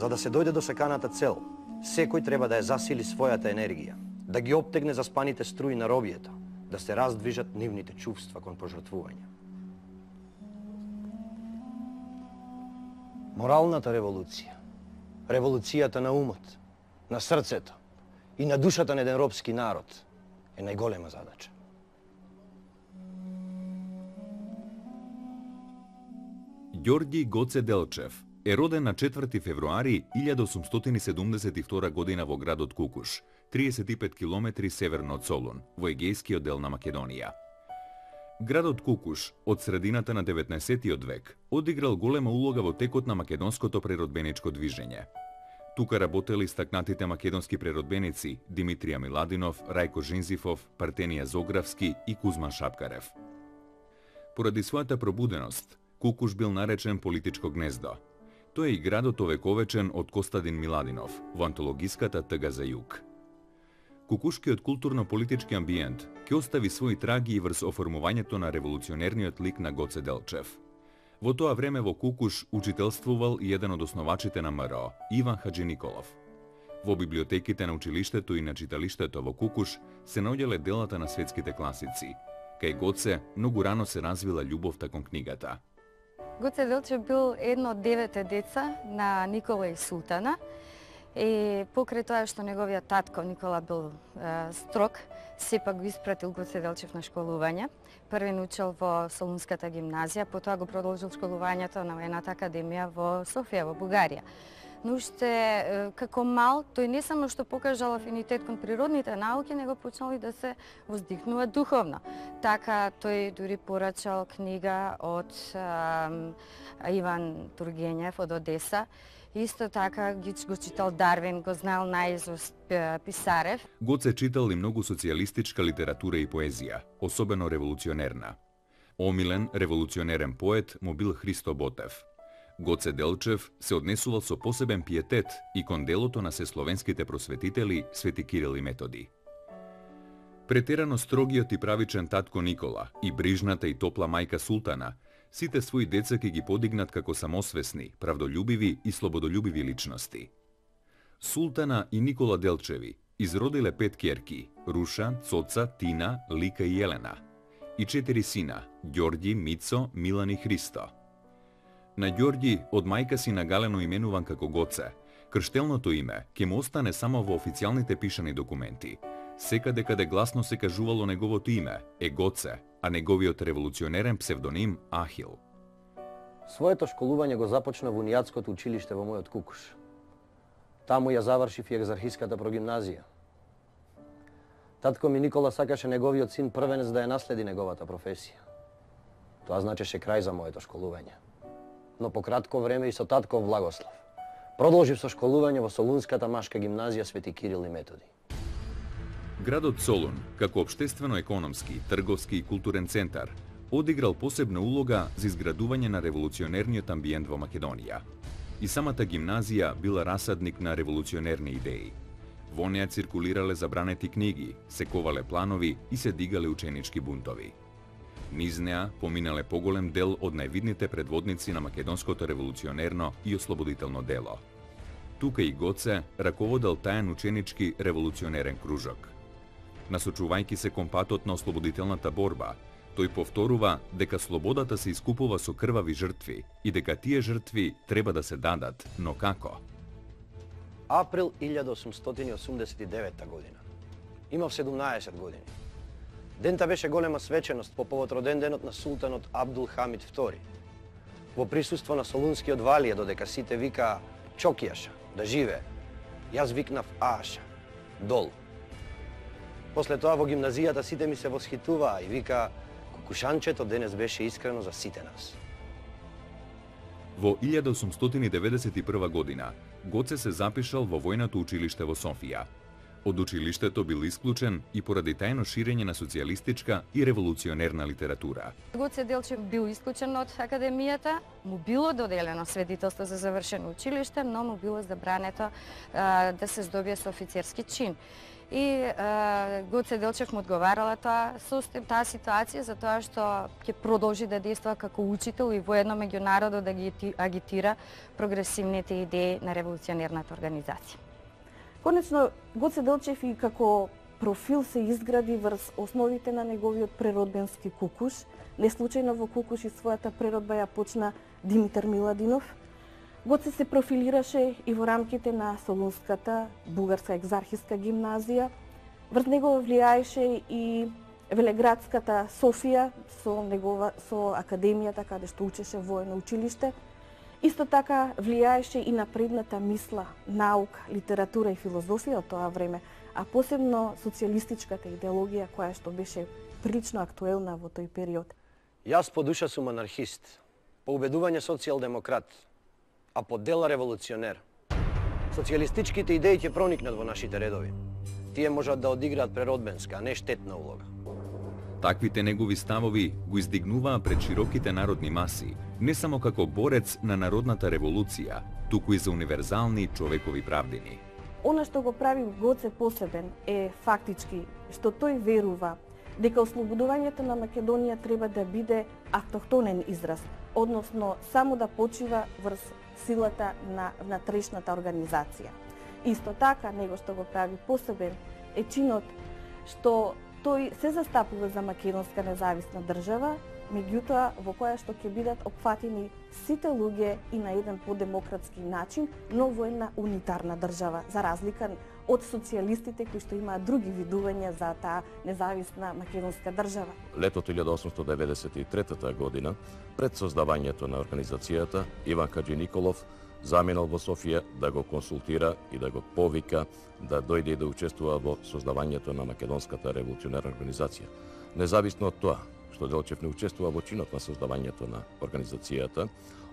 За да се дојде до саканата цел, секој треба да ја засили својата енергија, да ги оптегне заспаните струи на робието, да се раздвижат нивните чувства кон пожртвување. Моралната револуција, револуцијата на умот, на срцето и на душата на еден робски народ е најголема задача. Ѓорѓи Гоце Делчев е роден на 4 февруари 1872 година во градот Кукуш, 35 километри северно од Солун, во егејскиот дел на Македонија. Градот Кукуш од средината на 19 век одиграл голема улога во текот на македонското преродбеничко движење. Тука работели стакнатите македонски преродбеници Димитрија Миладинов, Рајко Жинзифов, Партенија Зографски и Кузман Шапкарев. Поради својата пробуденост, Кукуш бил наречен политичко гнездо. Тој е и градот овековечен од Костадин Миладинов во антологиската Тъга за југ. Кукушкиот културно-политички амбиент ќе остави своји траги и врз оформувањето на револуционерниот лик на Гоце Делчев. Во тоа време во Кукуш учителствувал и еден од основачите на МРО, Иван Хаджи Николов. Во библиотеките на училиштето и на читалиштето во Кукуш се наоѓале делата на светските класици. Кај Гоце многу рано се развила љубовта кон книгата. Гоце Делчев бил едно од 9 деца на Никола и Султана. И покрај тоа што неговиот татко Никола бил строг, сепак го испратил Гоце Делчев на школување. Први научил во Солунската гимназија, потоа го продолжил школувањето на воената академија во Софија, во Бугарија. Но уште како мал, тој не само што покажал афинитет кон природните науки, него почнал и да се воздигнува духовно. Така тој дури порачал книга од Иван Тургенев од Одеса. Исто така го читал Дарвин, го знал наизуст Писарев. Гоце читал и многу социјалистичка литература и поезија, особено револуционерна. Омилен револуционерен поет му бил Христо Ботев. Гоце Делчев се однесувал со посебен пиетет и кон делото на сесловенските просветители Свети Кирил и Методи. Претерано строгиот и правичен татко Никола и брижната и топла мајка Султана сите своји деца ќе ги подигнат како самосвесни, правдолюбиви и слободолюбиви личности. Султана и Никола Делчеви изродиле 5 ќерки: Руша, Цоца, Тина, Лика и Елена, и 4 сина: Ѓорѓи, Мицо, Милан и Христо. На Ѓорѓи од мајка си нагалено именуван како Гоце, крштелното име ќе му остане само во официјалните пишани документи. Секаде каде гласно се кажувало неговото име е Гоце, а неговиот револуционерен псевдоним Ахил. Своето школување го започна во унијатското училиште во мојот Кукуш. Таму ја завршив и екзархиската прогимназија. Татко ми Никола сакаше неговиот син првенец да ја наследи неговата професија. Тоа значеше крај за моето школување. Но по кратко време и со татков благослов продолжив со школување во Солунската машка гимназија Свети Кирил и Методи. Градот Солун, како општествено-економски, трговски и културен центар, одиграл посебна улога за изградување на револуционерниот амбиент во Македонија. И самата гимназија била расадник на револуционерни идеи. Во неја циркулирале забранети книги, се ковале планови и се дигале ученички бунтови. Низ неа поминале поголем дел од највидните предводници на македонското револуционерно и ослободително дело. Тука и Гоце раководел тајан ученички револуционерен кружок. Насочувајќи се кон патот на ослободителната борба, тој повторува дека слободата се искупува со крвави жртви и дека тие жртви треба да се дадат, но како? Април 1889 година. Имав 17 години. Дента беше голема свеченост по повод роденденот на султанот Абдул Хамид II. Во присуство на Солунскиот валија, додека сите викаа Чокијаша, да живее, јас викнав Ааша, долу. После тоа во гимназијата сите ми се восхитуваа и вика Кукушанчето денес беше искрено за сите нас. Во 1891 година Гоце се запишал во војното училиште во Софија. Од училиштето бил исклучен и поради тајно ширење на социјалистичка и револуционерна литература. Гоце Делчев бил исклучен од академијата, му било доделено свидетелство за завршено училиште, но му било забрането да се здобие со офицерски чин. И Гоце Делчев му одговарала таа ситуација за тоа што ќе продолжи да действа како учител и воедно меѓу народот да ги агитира прогресивните идеи на револуционерната организација. Конечно, Гоце Делчев и како профил се изгради врз основите на неговиот преродбенски Кукуш. Не случајно во Кукуш и својата преродба ја почна Димитар Миладинов. Гоце се профилираше и во рамките на Солунската бугарска екзархиска гимназија. Врз него влијаеше и Велеградската Софија со академијата каде што учеше воено училиште. Исто така влијаеше и напредната мисла, наука, литература и филозофија од тоа време, а посебно социјалистичката идеологија која што беше прилично актуелна во тој период. Јас по душа сум анархист, по убедување социјалдемократ, а по дела револуционер. Социјалистичките идеи ќе проникнат во нашите редови. Тие можат да одиграат преродбенска, а не штетна улога. Таквите негови ставови го издигнуваа пред широките народни маси, не само како борец на народната револуција, туку и за универзални човекови правдини. Она што го прави Гоце посебен е фактички што тој верува дека ослободувањето на Македонија треба да биде автохтонен израз, односно само да почива врз силата на внатрешната организација. Исто така, него што го прави посебен е чинот што тој се застапува за македонска независна држава, меѓутоа во која што ќе бидат опфатени сите луѓе и на еден подемократски начин, но во една унитарна држава, за разлика од социјалистите кои што имаат други видувања за таа независна македонска држава. Летото 1893 година, пред создавањето на организацијата, Иван Хаџи Николов заминал во Софија да го консултира и да го повика да дојде и да учествува во создавањето на Македонската револуционерна организација. Независно од тоа што Делчев не учествува во чинот на создавањето на организацијата,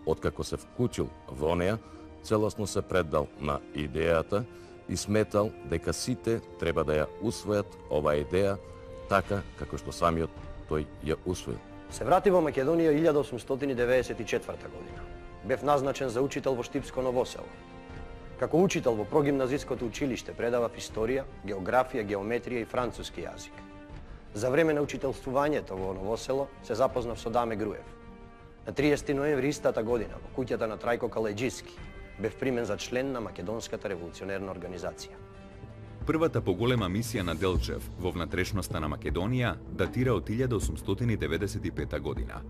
откако се вклучил во неа, целосно се предал на идејата и сметал дека сите треба да ја усвојат оваа идеја така како што самиот тој ја усвоил. Се врати во Македонија 1894 година. Бев назначен за учител во Штипско Новосело. Како учител во прогимназиското училиште предавав историја, географија, геометрија и француски јазик. За време на учителствувањето во Новосело се запознав со Даме Груев. На 30 ноември истата година во куќата на Трајко Калајџиски бев примен за член на Македонската револуционерна организација. Првата поголема мисија на Делчев во внатрешноста на Македонија датира од 1895 година.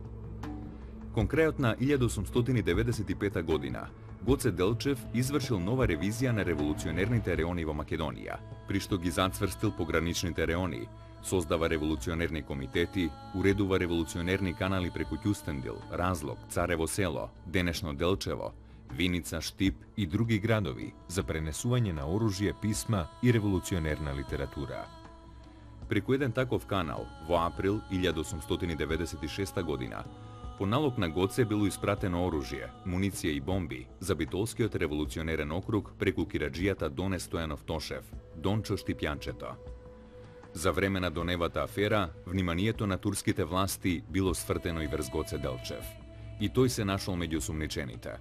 Кон крајот на 1895 година, Гоце Делчев извршил нова ревизија на револуционерните реони во Македонија, при што ги зацврстил пограничните реони, создава револуционерни комитети, уредува револуционерни канали преку Ќустендил, Разлог, Царево село, денешно Делчево, Виница, Штип и други градови за пренесување на оружје, писма и револуционерна литература. Преку еден таков канал, во април 1896 година, по налог на Гоце било испратено оружје, муниција и бомби за битолскиот револуционерен округ преку кираџијата Доне Стојанов Тошев, Дончо Штипјанчето. За време на Доневата афера, вниманието на турските власти било свртено и врз Гоце Делчев. И тој се нашол меѓу сумничените.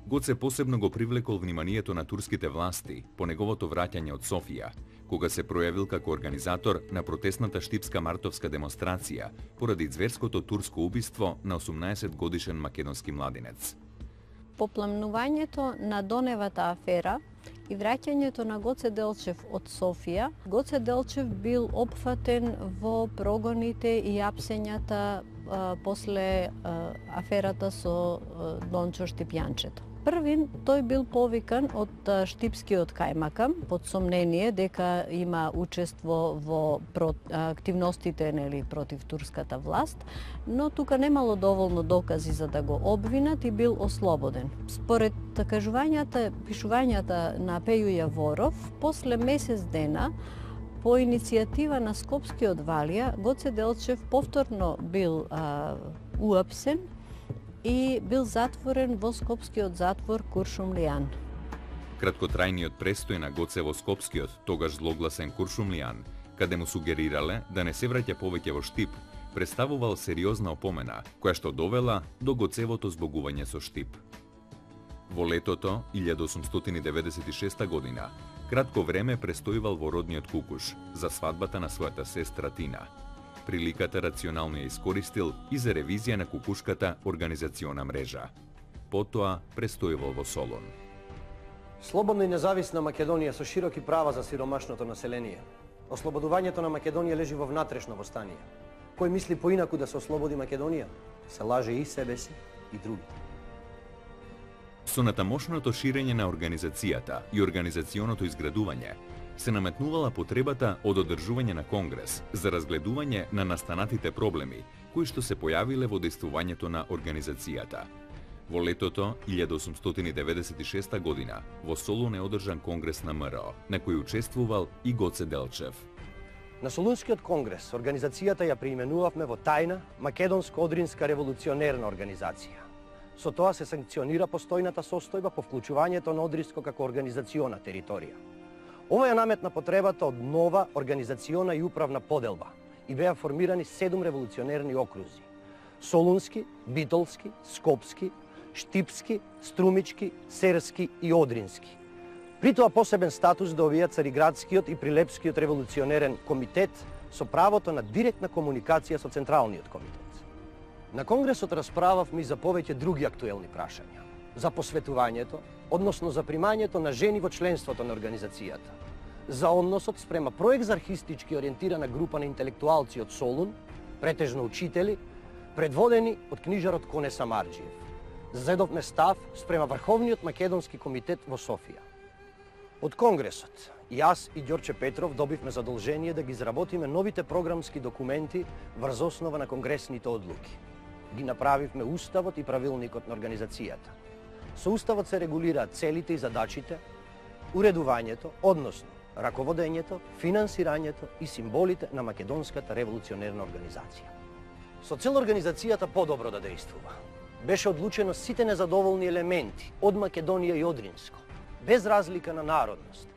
Гоце посебно го привлекол вниманието на турските власти по неговото враќање од Софија, кога се пројавил како организатор на протестната штипска мартовска демонстрација поради зверското турско убиство на 18-годишен македонски младинец. По пламнувањето на Доневата афера и враќањето на Гоце Делчев од Софија, Гоце Делчев бил опфатен во прогоните и апсењата после аферата со Дончо Штипјанчето. Првин, тој бил повикан од Штипскиот кајмакам под сомнение дека има учество во активностите против турската власт, но тука немало доволно докази за да го обвинат и бил ослободен. Според кажувањата, пишувањата на Пеју Јаворов, после месец дена, по иницијатива на Скопскиот валија, Гоце Делчев повторно бил уапсен и бил затворен во Скопскиот затвор Куршумлијан. Краткотрајниот престој на Гоце во Скопскиот, тогаш злогласен Куршумлијан, каде му сугерирале да не се враќа повеќе во Штип, представувал сериозна опомена, која што довела до Гоцевото збогување со Штип. Во летото 1896 година, кратко време престојувал во родниот Кукуш за свадбата на својата сестра Тина. Приликата рационално ја искористил и за ревизија на кукушката организациона мрежа. Потоа престојувал во Солун. Слободна и независна Македонија со широки права за сиромашното население. Ослободувањето на Македонија лежи во внатрешно востание. Кој мисли поинаку да се ослободи Македонија, се лаже и себе си и другите. Со натамошното ширење на организацијата и организационото изградување, се наметнувала потребата од одржување на конгрес за разгледување на настанатите проблеми кои што се појавиле во дејствувањето на организацијата. Во летото 1896 година во Солун е одржан конгрес на МРО, на кој учествувал и Гоце Делчев. На Солунскиот конгрес организацијата ја преименувавме во тајна Македонско-одринска револуционерна организација. Со тоа се санкционира постојната состојба по вклучувањето на Одринско како организациона територија. Ова ја наметна потребата од нова организациона и управна поделба и беа формирани 7 револуционерни окрузи: Солунски, Битолски, Скопски, Штипски, Струмички, Серски и Одрински. При тоа посебен статус добија Цариградскиот и Прилепскиот револуционерен комитет со правото на директна комуникација со Централниот комитет. На конгресот расправавме и за повеќе други актуелни прашања. За посветувањето, односно за примањето на жени во членството на организацијата. За односот спрема проекзархистички ориентирана група на интелектуалци од Солун, претежно учители, предводени од книжарот Коне Самарџиев. Зедовме став спрема Врховниот македонски комитет во Софија. Од конгресот, јас и Ѓорче Петров добивме задолжение да ги изработиме новите програмски документи врз основа на конгресните одлуки. Ги направивме уставот и правилникот на организацијата. Со уставот се регулираат целите и задачите, уредувањето, односно раководењето, финансирањето и символите на Македонската револуционерна организација. Со цел организацијата подобро да дејствува, беше одлучено сите незадоволни елементи од Македонија и Одринско, без разлика на народност,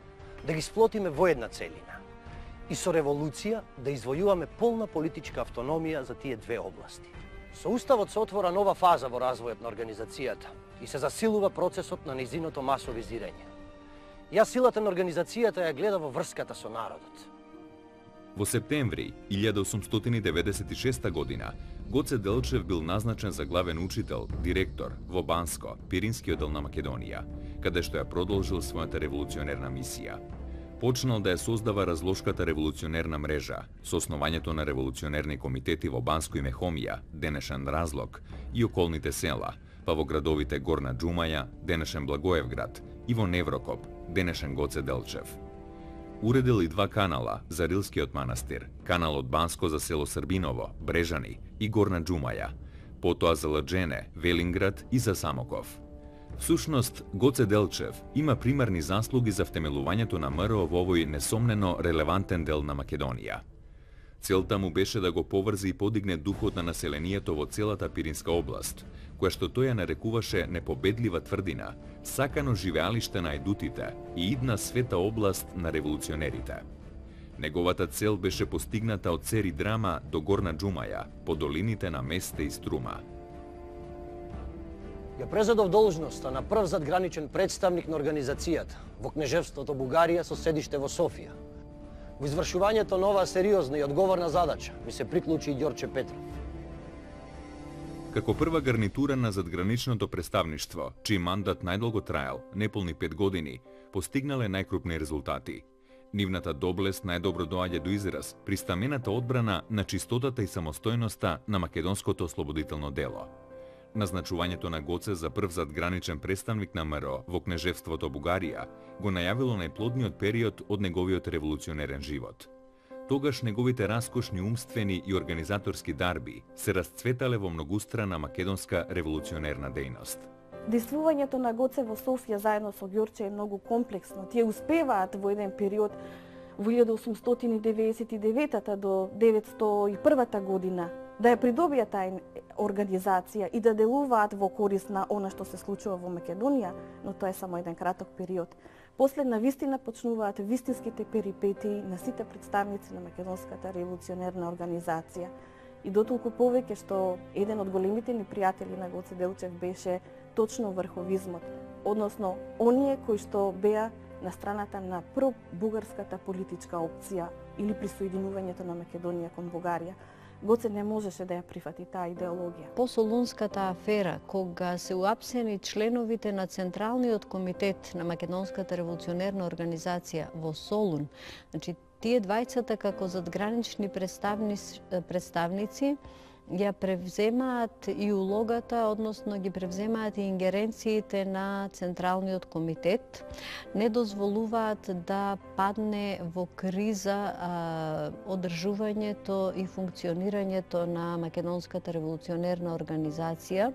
да ги сплотиме во една целина и со револуција да извојуваме полна политичка автономија за тие две области. Со уставот се отвора нова фаза во развојот на организацијата и се засилува процесот на нејзиното масовизирање. Јас силата на организацијата ја гледа во врската со народот. Во септември 1896 година Гоце Делчев бил назначен за главен учител, директор во Банско, Пиринскиот дел на Македонија, каде што ја продолжил својата револуционерна мисија. Почнал да ја создава разлошката револуционерна мрежа со основањето на револуционерни комитети во Банско и Мехомија, денешен Разлог, и околните села, па во градовите Горна Џумаја, денешен Благоевград, и во Неврокоп, денешен Гоце Делчев. Уредил и 2 канала за Рилскиот манастир, канал од Банско за село Србиново, Брежани и Горна Џумаја, потоа за Лаџене, Велинград и за Самоков. Всушност, Гоце Делчев има примарни заслуги за втемелувањето на МРО во овој несомнено релевантен дел на Македонија. Целта му беше да го поврзи и подигне духот на населението во целата Пиринска област, која што тој ја нарекуваше непобедлива тврдина, сакано живеалиште на ајдутите и идна света област на револуционерите. Неговата цел беше постигната од Цери Драма до Горна Џумаја, по долините на Месте и Струма. Ја презедов должноста на прв задграничен представник на организацијата во кнежевството Бугарија со седиште во Софија. Во извршувањето на оваа сериозна и одговорна задача ми се приклучи и Ѓорче Петров. Како прва гарнитура на задграничното представништво, чиј мандат најдолго траел, неполни 5 години, постигнале најкрупни резултати. Нивната доблест најдобро доаѓа до израз при стамената одбрана на чистотата и самостојноста на македонското ослободително дело. Назначувањето на Гоце за прв задграничен представник на МРО во кнежевството Бугарија го најавило најплодниот период од неговиот револуционерен живот. Тогаш неговите раскошни умствени и организаторски дарби се расцветале во многустрана македонска револуционерна дејност. Действувањето на Гоце во Софија заедно со Ѓорче е многу комплексно. Тие успеваат во еден период во 1899 до 901 година да ја придобија таа организација и да делуваат во корист на она што се случува во Македонија, но тоа е само еден краток период. После на вистина почнуваат вистинските перипетии на сите представници на Македонската револуционерна организација. И дотолку повеќе што еден од големите ни пријатели на Гоце Делчев беше точно врховизмот, односно оние кои што беа на страната на пробугарската политичка опција или присоединувањето на Македонија кон Бугарија. Гоце не можеше да ја прифати таа идеологија. По Солунската афера, кога се уапсени членовите на Централниот комитет на Македонската револуционерна организација во Солун, значи тие двајцата како задгранични представници ја превземаат и улогата, односно ги превземаат и ингеренциите на Централниот комитет, не дозволуваат да падне во криза одржувањето и функционирањето на Македонската револуционерна организација.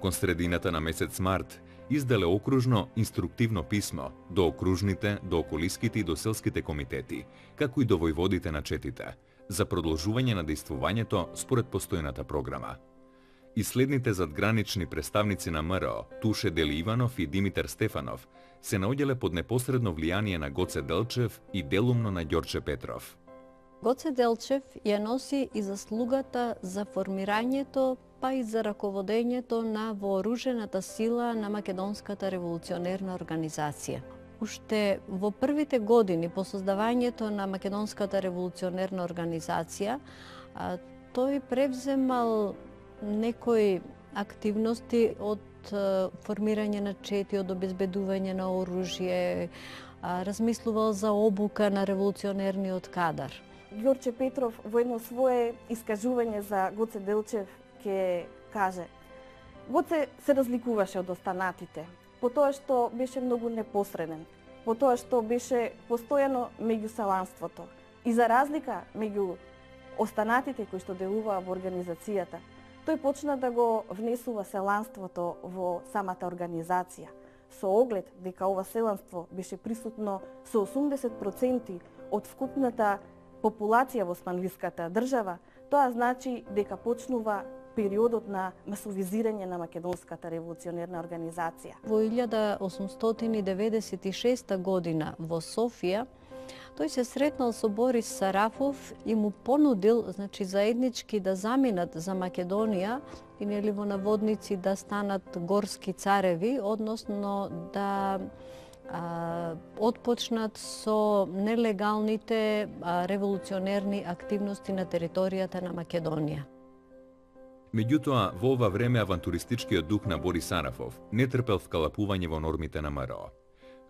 Кон средината на месец март изделе окружно инструктивно писмо до окружните, до околиските и до селските комитети, како и до војводите на четите, за продолжување на дејствувањето според постојната програма. И следните задгранични представници на МРО, Туше Дели Иванов и Димитар Стефанов, се наоѓале под непосредно влијание на Гоце Делчев и делумно на Ѓорче Петров. Гоце Делчев ја носи и заслугата за формирањето, па и за раководењето на вооружената сила на Македонската револуционерна организација. Уште во првите години по создавањето на Македонската револуционерна организација, тој превземал некои активности од формирање на чети, од обезбедување на оружје, размислувал за обука на револуционерниот кадар. Ѓорче Петров во едно свое искажување за Гоце Делчев ќе каже: Гоце се разликуваше од останатите, по тоа што беше многу непосреден, по тоа што беше постојано меѓу селанството. И за разлика меѓу останатите кои што делуваа во организацијата, тој почна да го внесува селанството во самата организација, со оглед дека ова селанство беше присутно со 80% од вкупната популација во османлиската држава. Тоа значи дека почнува периодот на масовизирање на Македонската револуционерна организација. Во 1896 година во Софија, тој се сретнал со Борис Сарафов и му понудил, значи, заеднички да заминат за Македонија и нели во наводници да станат горски цареви, односно да отпочнат со нелегалните револуционерни активности на територијата на Македонија. Меѓутоа, во ова време авантуристичкиот дух на Борис Сарафов не трпел вкалапување во нормите на МРО.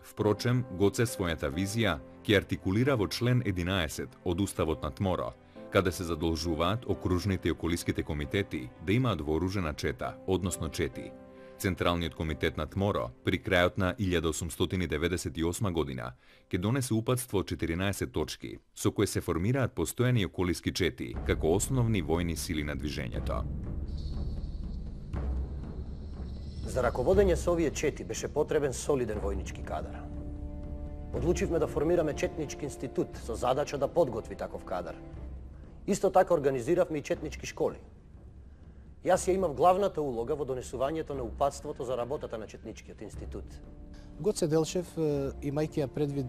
Впрочем, Гоце својата визија ќе артикулира во член 11 од Уставот на ТМОРО, каде се задолжуваат окружните и околиските комитети да имаат вооружена чета, односно чети. Централниот комитет на ТМОРО при крајот на 1898 година ќе донесе упатство од 14 точки, со кои се формираат постојани околиски чети како основни војни сили на движењето. За раководење со овие чети беше потребен солиден војнички кадар. Одлучивме да формираме четнички институт со задача да подготви таков кадар. Исто така организиравме и четнички школи. Јас ја имав главната улога во донесувањето на упатството за работата на четничкиот институт. Гоце Делчев, имајќи ја предвид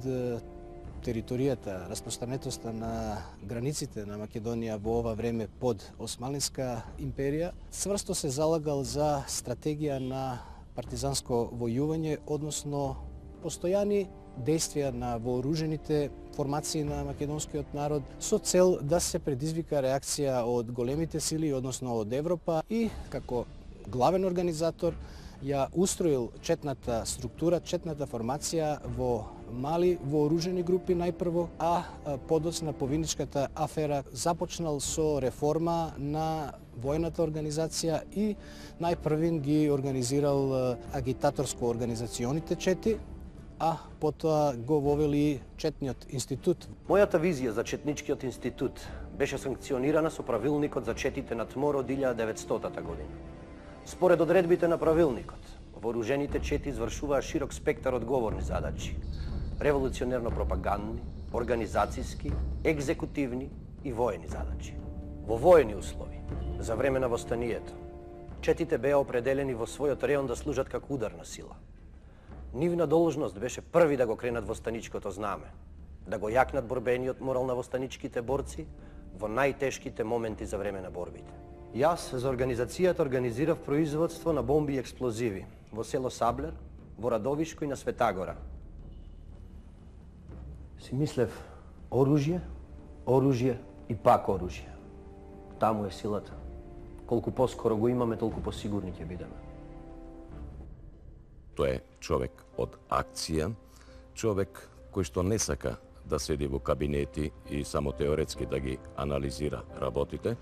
територијата, распространетоста на границите на Македонија во ова време под Османлиска империја, цврсто се залагал за стратегија на партизанско војување, односно постојани действија на вооружените формации на македонскиот народ со цел да се предизвика реакција од големите сили, односно од Европа, и како главен организатор ја устроил четната структура, четната формација во мали вооружени групи најпрво, а подоцна по Виничката афера започнал со реформа на војната организација и најпрвин ги организирал агитаторско-организационите чети, а потоа го вовели четниот институт. Мојата визија за четничкиот институт беше санкционирана со правилникот за четите на ТМОР од 1900 година. Според одредбите на правилникот, вооружените чети извршуваа широк спектар одговорни задачи: револуционерно-пропагандни, организацијски, екзекутивни и воени задачи. Во воени услови, За време на востанието, четите беа определени во својот реон да служат како ударна сила. Нивна должност беше први да го кренат востаничкото знаме, да го јакнат борбениот морал на востаничките борци во најтешките моменти за време на борбите. Јас за организацијата организирав производство на бомби и експлозиви во село Саблер, во Радовишко и на Светагора. Си мислев оружје, оружје и пак оружје. Таму е силата. Колку поскоро го имаме, толку посигурни ќе бидеме. Тој е човек од акција, човек кој што не сака да седи во кабинети и само теоретски да ги анализира работите,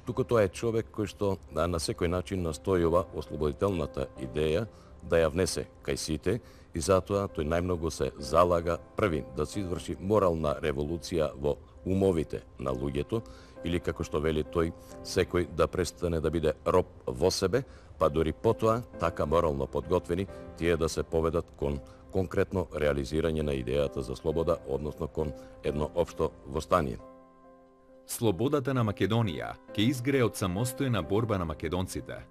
туку тоа е човек кој што на секој начин настојува ослободителната идеја да ја внесе кај сите и затоа тој најмногу се залага први да се изврши морална револуција во умовите на луѓето, или како што вели тој, секој да престане да биде роб во себе, па дори потоа, така морално подготвени, тие да се поведат кон конкретно реализирање на идејата за слобода, односно кон едно општо востание. Слободата на Македонија ќе изгрее од самостојна борба на македонците.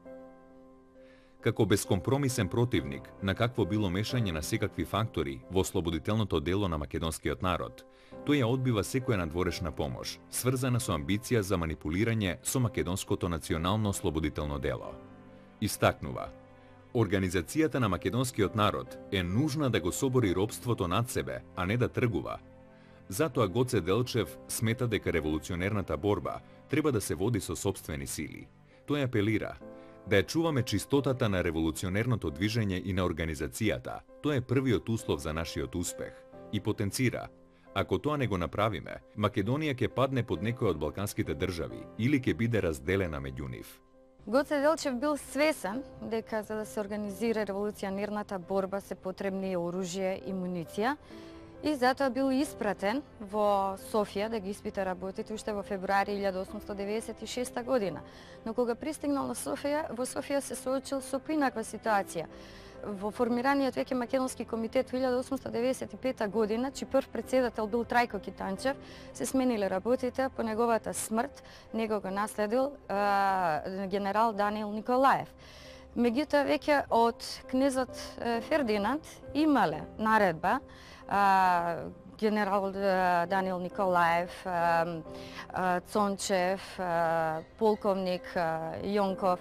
Како бескомпромисен противник на какво било мешање на секакви фактори во ослободителното дело на македонскиот народ, тој ја одбива секоја надворешна помош, сврзана со амбиција за манипулирање со македонското национално ослободително дело. Истакнува: организацијата на македонскиот народ е нужна да го собори робството над себе, а не да тргува. Затоа Гоце Делчев смета дека револуционерната борба треба да се води со сопствени сили. Тој апелира да ја чуваме чистотата на револуционерното движење и на организацијата. Тоа е првиот услов за нашиот успех. И потенцира: ако тоа не го направиме, Македонија ќе падне под некој од балканските држави или ќе биде разделена меѓу нив. Гоце Делчев бил свесен дека за да се организира револуционерната борба се потребни оружје и муниција, и затоа бил испратен во Софија да ги испита работите уште во февруари 1896 година. Но кога пристигнал на Софија, во Софија се соочил со поинаква ситуација. Во формираниот веќе Македонски комитет во 1895 година, чиј прв председател бил Трајко Китанчев, се смениле работите. По неговата смрт него го наследил генерал Даниел Николаев. Меѓутоа, веќе од кнезот Фердинанд имале наредба генерал Даниел Николаев, Цончев, полковник Јонков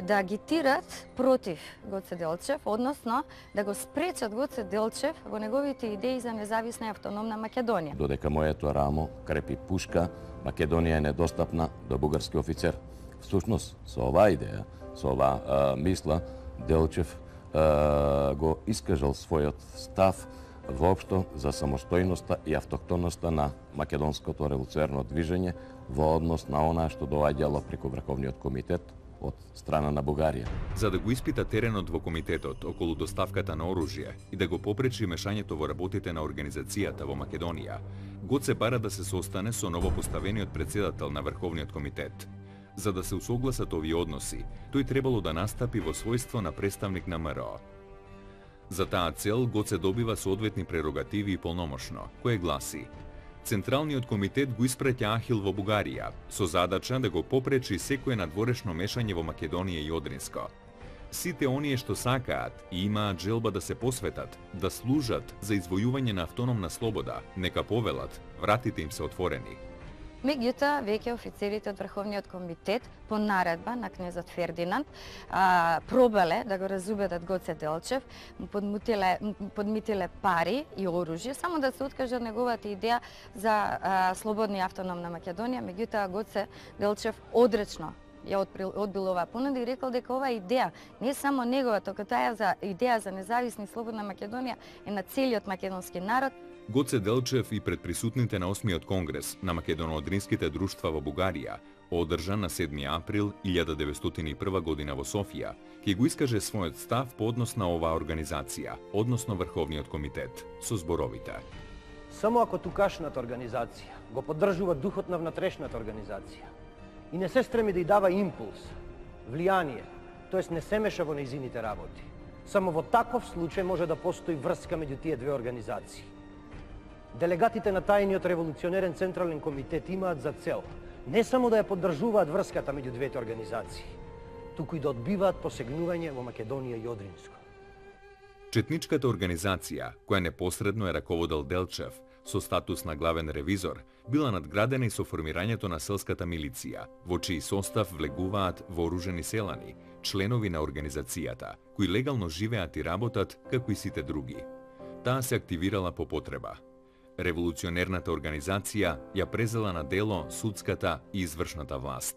да агитират против Гоце Делчев, односно да го спречат Гоце Делчев во неговите идеи за независна и автономна Македонија. Додека моето рамо крепи пушка, Македонија е недостапна до бугарски офицер. Всушност, со оваа идеја, со оваа мисла, Делчев го искажал својот став воопшто за самостојноста и автохтонноста на македонското револуционерно движење во однос на она што доаѓало преку Врховниот комитет од страна на Бугарија. За да го испита теренот во комитетот околу доставката на оружје и да го попречи мешањето во работите на организацијата во Македонија, Гоце бара да се состане со новопоставениот председател на Врховниот комитет. За да се усогласат овие односи, тој требало да настапи во својство на представник на МРО. За таа цел Гоце добива соодветни прерогативи и полномошно, кое гласи: Централниот комитет го испраќа Ахил во Бугарија, со задача да го попречи секое надворешно мешање во Македонија и Одринско. Сите оние што сакаат и имаат желба да се посветат, да служат за извојување на автономна слобода, нека повелат, вратите им се отворени. Меѓутоа, веќе офицерите од Врховниот комитет по наредба на кнезот Фердинанд пробале да го разубедат Гоце Делчев, му подмитиле пари и оружје, само да се откаже неговата идеја за слободна и автономна Македонија. Меѓутоа, Гоце Делчев одречно ја одбил оваа понуда и рекол дека оваа идеја не е само негова, туку таа за идеја за независна и слободна Македонија е на целиот македонски народ. Гоце Делчев и пред присутните на 8-миот конгрес на македоно-одринските друштва во Бугарија, одржан на 7 април 1901 година во Софија, ќе го искаже својот став по однос на оваа организација, односно Врховниот комитет, со зборовите: Само ако тукашната организација го поддржува духот на внатрешната организација и не се стреми да ја дава импулс, влијание, тоест не се меша во нејзините работи, само во таков случај може да постои врска меѓу тие две организации. Делегатите на тајниот револуционерен централен комитет имаат за цел Не само да ја поддржуваат врската меѓу двете организации, туку и да одбиваат посегнување во Македонија и Одринско. Четничката организација, која непосредно е раководел Делчев, со статус на главен ревизор, била надградена и со формирањето на селската милиција, во чиј состав влегуваат вооружени селани, членови на организацијата, кои легално живеат и работат како и сите други. Таа се активирала по потреба. Револуционерната организација ја презела на дело судската и извршната власт.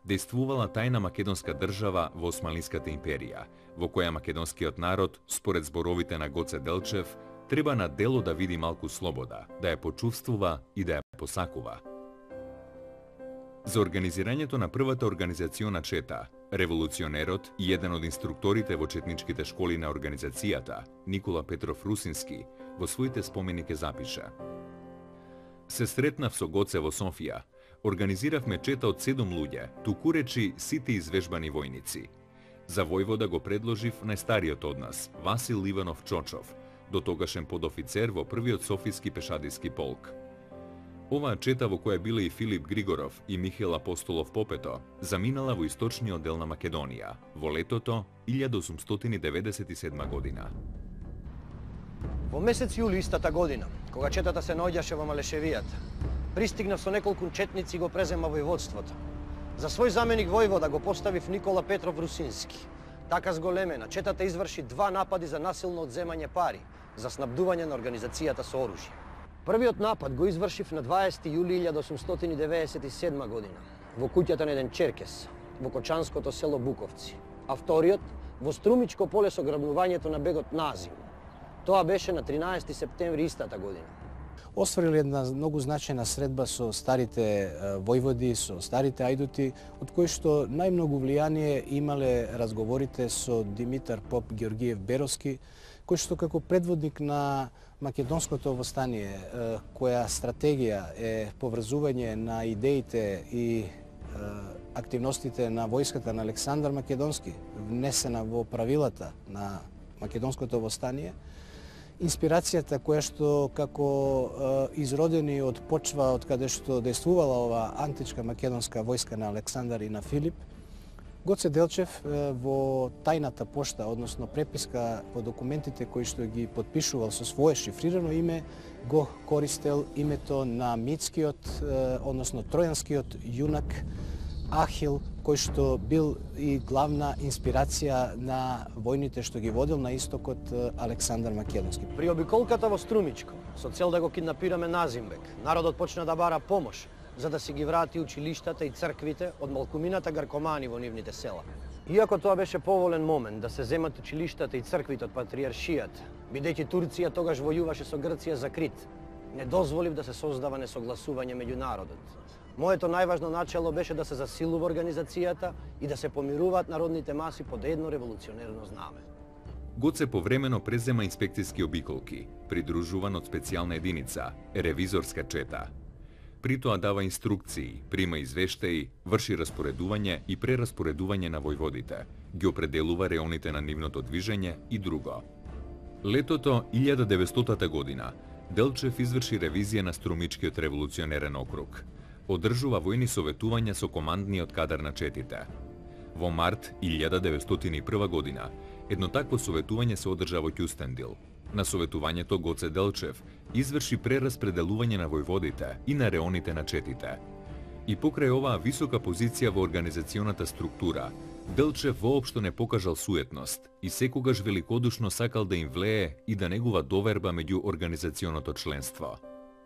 Дејствувала тајна македонска држава во Османлиската империја, во која македонскиот народ, според зборовите на Гоце Делчев, треба на дело да види малку слобода, да ја почувствува и да ја посакува. За организирањето на првата организациона чета, револуционерот и еден од инструкторите во четничките школи на организацијата, Никола Петров Русински, во своите спомени ке запише: Се сретнав со Гоце во Софија. Организиравме чета од 7 луѓе, туку речи сите извежбани војници. За војвода го предложив најстариот од нас, Васил Иванов Чочов, до тогашен подофицер во првиот Софијски пешадиски полк. Оваа чета, во која биле и Филип Григоров и Михаил Апостолов Попето, заминала во источниот дел на Македонија, во летото 1897 година. Во месец јули истата година, кога четата се наоѓаше во Малешевијата, пристигнав со неколку четници и го презема војводството. За свој заменик војвода го поставив Никола Петров Русински. Така зголемена, четата изврши 2 напади за насилно одземање пари, за снабдување на организацијата со оружје. Првиот напад го извршив на 20 јули 1897 година, во куќата на еден черкес, во кочанското село Буковци, а вториот во Струмичко поле со грабнувањето на бегот Назим. Тоа беше на 13 септември истата година. Остварили една многу значајна средба со старите војводи, со старите ајдути, од кои што најмногу влијание имале разговорите со Димитар Поп Георгиев Беровски, кој што како предводник на македонското востание, која стратегија е поврзување на идеите и активностите на војската на Александар Македонски, внесена во правилата на македонското востание, инспирацијата која што како изродени од почва од каде што дејствувала ова античка македонска војска на Александар и на Филип, Гоце Делчев во тајната пошта, односно преписка по документите кои што ги подпишувал со свое шифрирано име, го користел името на митскиот, односно тројанскиот јунак Ахил, кој што бил и главна инспирација на војните што ги водил на истокот Александар Македонски. При обиколката во Струмичко, со цел да го киднапираме Назимбек, народот почна да бара помош за да си ги врати училиштата и црквите од малкумината гаркомани во нивните села. Иако тоа беше поволен момент да се земат училиштата и црквите од патриаршијата, бидејќи Турција тогаш војуваше со Грција за Крит, не дозволив да се создава несогласување меѓу народот. Моето најважно начело беше да се засилува организацијата и да се помируваат народните маси под едно револуционерно знаме. Гоце повремено презема инспекцијски обиколки, придружуван од специјална единица, ревизорска чета. При тоа дава инструкции, прима извештаи, врши распоредување и прераспоредување на војводите, ги определува реоните на нивното движење и друго. Летото 1900 година Делчев изврши ревизија на Струмичкиот револуционерен округ. Одржува војни советувања со командниот кадар на четите. Во март 1901 година едно такво советување се одржа во Кюстендил. На советувањето Гоце Делчев изврши прераспределување на војводите и на реоните на четите. И покрај оваа висока позиција во организационата структура, Делчев воопшто не покажал суетност и секогаш великодушно сакал да им влее и да негува доверба меѓу организационото членство.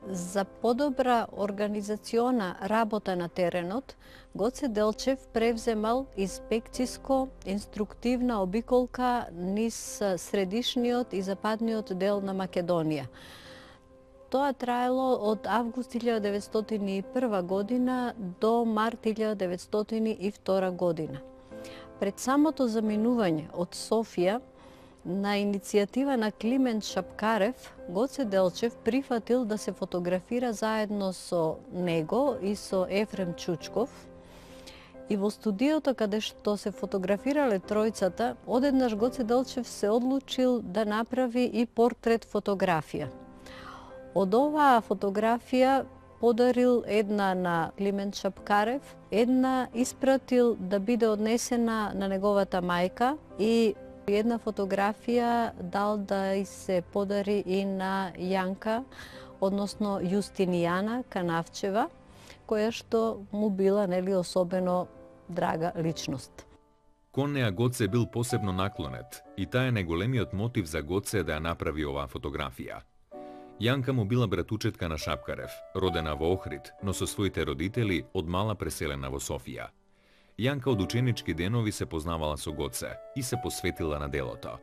За подобра организациона работа на теренот, Гоце Делчев превземал инспекциско-инструктивна обиколка низ средишниот и западниот дел на Македонија. Тоа траело од август 1901 година до март 1902 година. Пред самото заминување од Софија, на иницијатива на Климент Шапкарев, Гоце Делчев прифатил да се фотографира заедно со него и со Ефрем Чучков. И во студиото каде што се фотографирале тројцата, одеднаш Гоце Делчев се одлучил да направи и портрет фотографија. Од оваа фотографија подарил една на Климент Шапкарев, една испратил да биде однесена на неговата мајка и една фотографија дал да и се подари и на Јанка, односно Јустинијана Канавчева, која што му била особено драга личност. Кон неа Гоце бил посебно наклонет и таа е најголемиот мотив за Гоце да ја направи оваа фотографија. Јанка му била братучетка на Шапкарев, родена во Охрид, но со своите родители од мала преселена во Софија. Јанка од ученички денови се познавала со Гоце и се посветила на делото.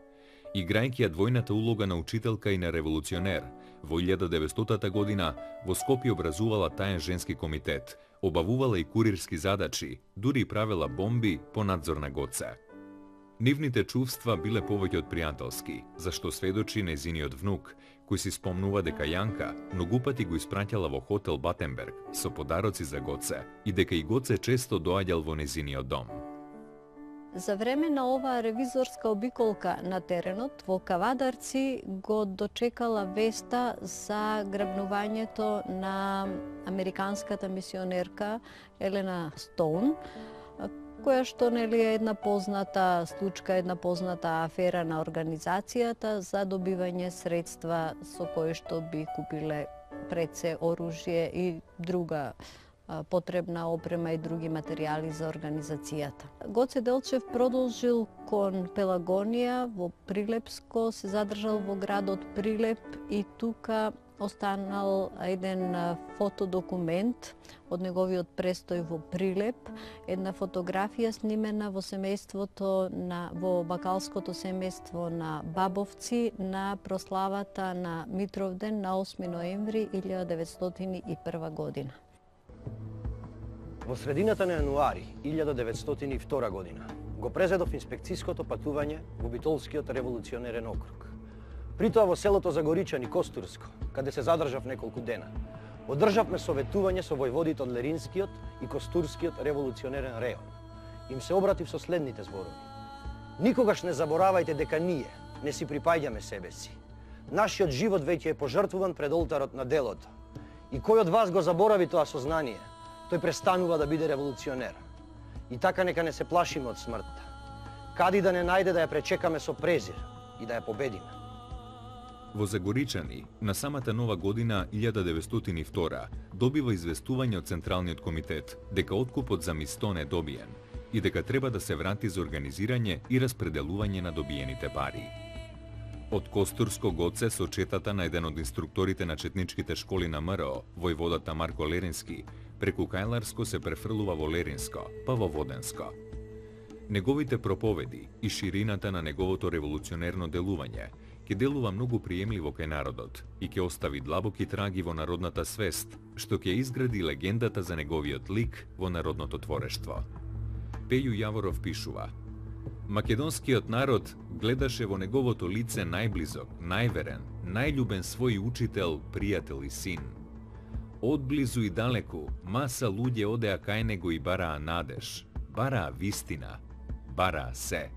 Играјќи ја двојната улога на учителка и на револуционер, во 1900 година во Скопје образувала таен женски комитет, обавувала и курирски задачи, дури и правела бомби по надзор на Гоце. Нивните чувства биле повеќе од пријателски, зашто сведочи нејзиниот внук, кој си спомнува дека Јанка многу пати го испраќала во хотел Батенберг со подароци за Гоце и дека и Гоце често доаѓал во нејзиниот дом. За време на оваа ревизорска обиколка на теренот во Кавадарци го дочекала веста за грабнувањето на американската мисионерка Елена Стоун, која што е една позната случка, една позната афера на организацијата за добивање средства со кои што би купиле пред се оружје и друга потребна опрема и други материјали за организацијата. Гоце Делчев продолжил кон Пелагонија во Прилепско, се задржал во градот Прилеп и тука останал еден фотодокумент од неговиот престој во Прилеп, една фотографија снимена во семејството во бакалското семејство на Бабовци на прославата на Митровден на 8 ноември 1901 година. Во средината на јануари 1902 година го презедов инспекцијското патување во Битолскиот револуционерен округ. При тоа во селото Загоричани Костурско, каде се задржав неколку дена, одржавме советување со војводите од Леринскиот и Костурскиот револуционерен реон. Им се обратив со следните зборови. Никогаш не заборавајте дека ние не си припаѓаме себе си. Нашиот живот веќе е пожртвуван пред олтарот на делото. И кој од вас го заборави тоа сознание, тој престанува да биде револуционер. И така нека не се плашиме од смртта. Кади да не најде да ја пречекаме со презир и да ја победиме. Во Загоричани, на самата нова година 1902 добива известување од Централниот комитет дека откупот за Мистон е добиен и дека треба да се врати за организирање и распределување на добиените пари. Од Костурско Гоце со четата на еден од инструкторите на четничките школи на МРО, војводата Марко Лерински, преку Кајларско се префрлува во Леринско, па во Воденско. Неговите проповеди и ширината на неговото револуционерно делување ќе делува многу приемливо кај народот и ќе остави длабоки траги во народната свест, што ќе изгради легендата за неговиот лик во народното творештво. Пеју Јаворов пишува: Македонскиот народ гледаше во неговото лице најблизок, најверен, најљубен свој учител, пријател и син. Одблизу и далеку, маса луѓе одеа кај него и бараа надеж, бараа вистина, бараа се.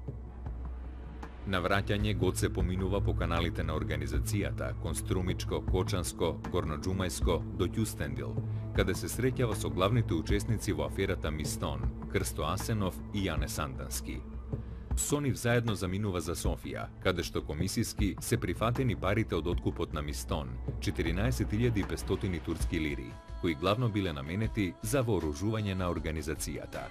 На враќање Гоце поминува по каналите на организацијата кон Струмичко, Кочанско, Горноџумајско до Ќустендил, каде се среќава со главните учесници во аферата Мистон, Крсто Асенов и Јане Сандански. Со нив заедно заминува за Софија, каде што комисиски се прифатени парите од откупот на Мистон, 14.500 турски лири, кои главно биле наменети за вооружување на организацијата.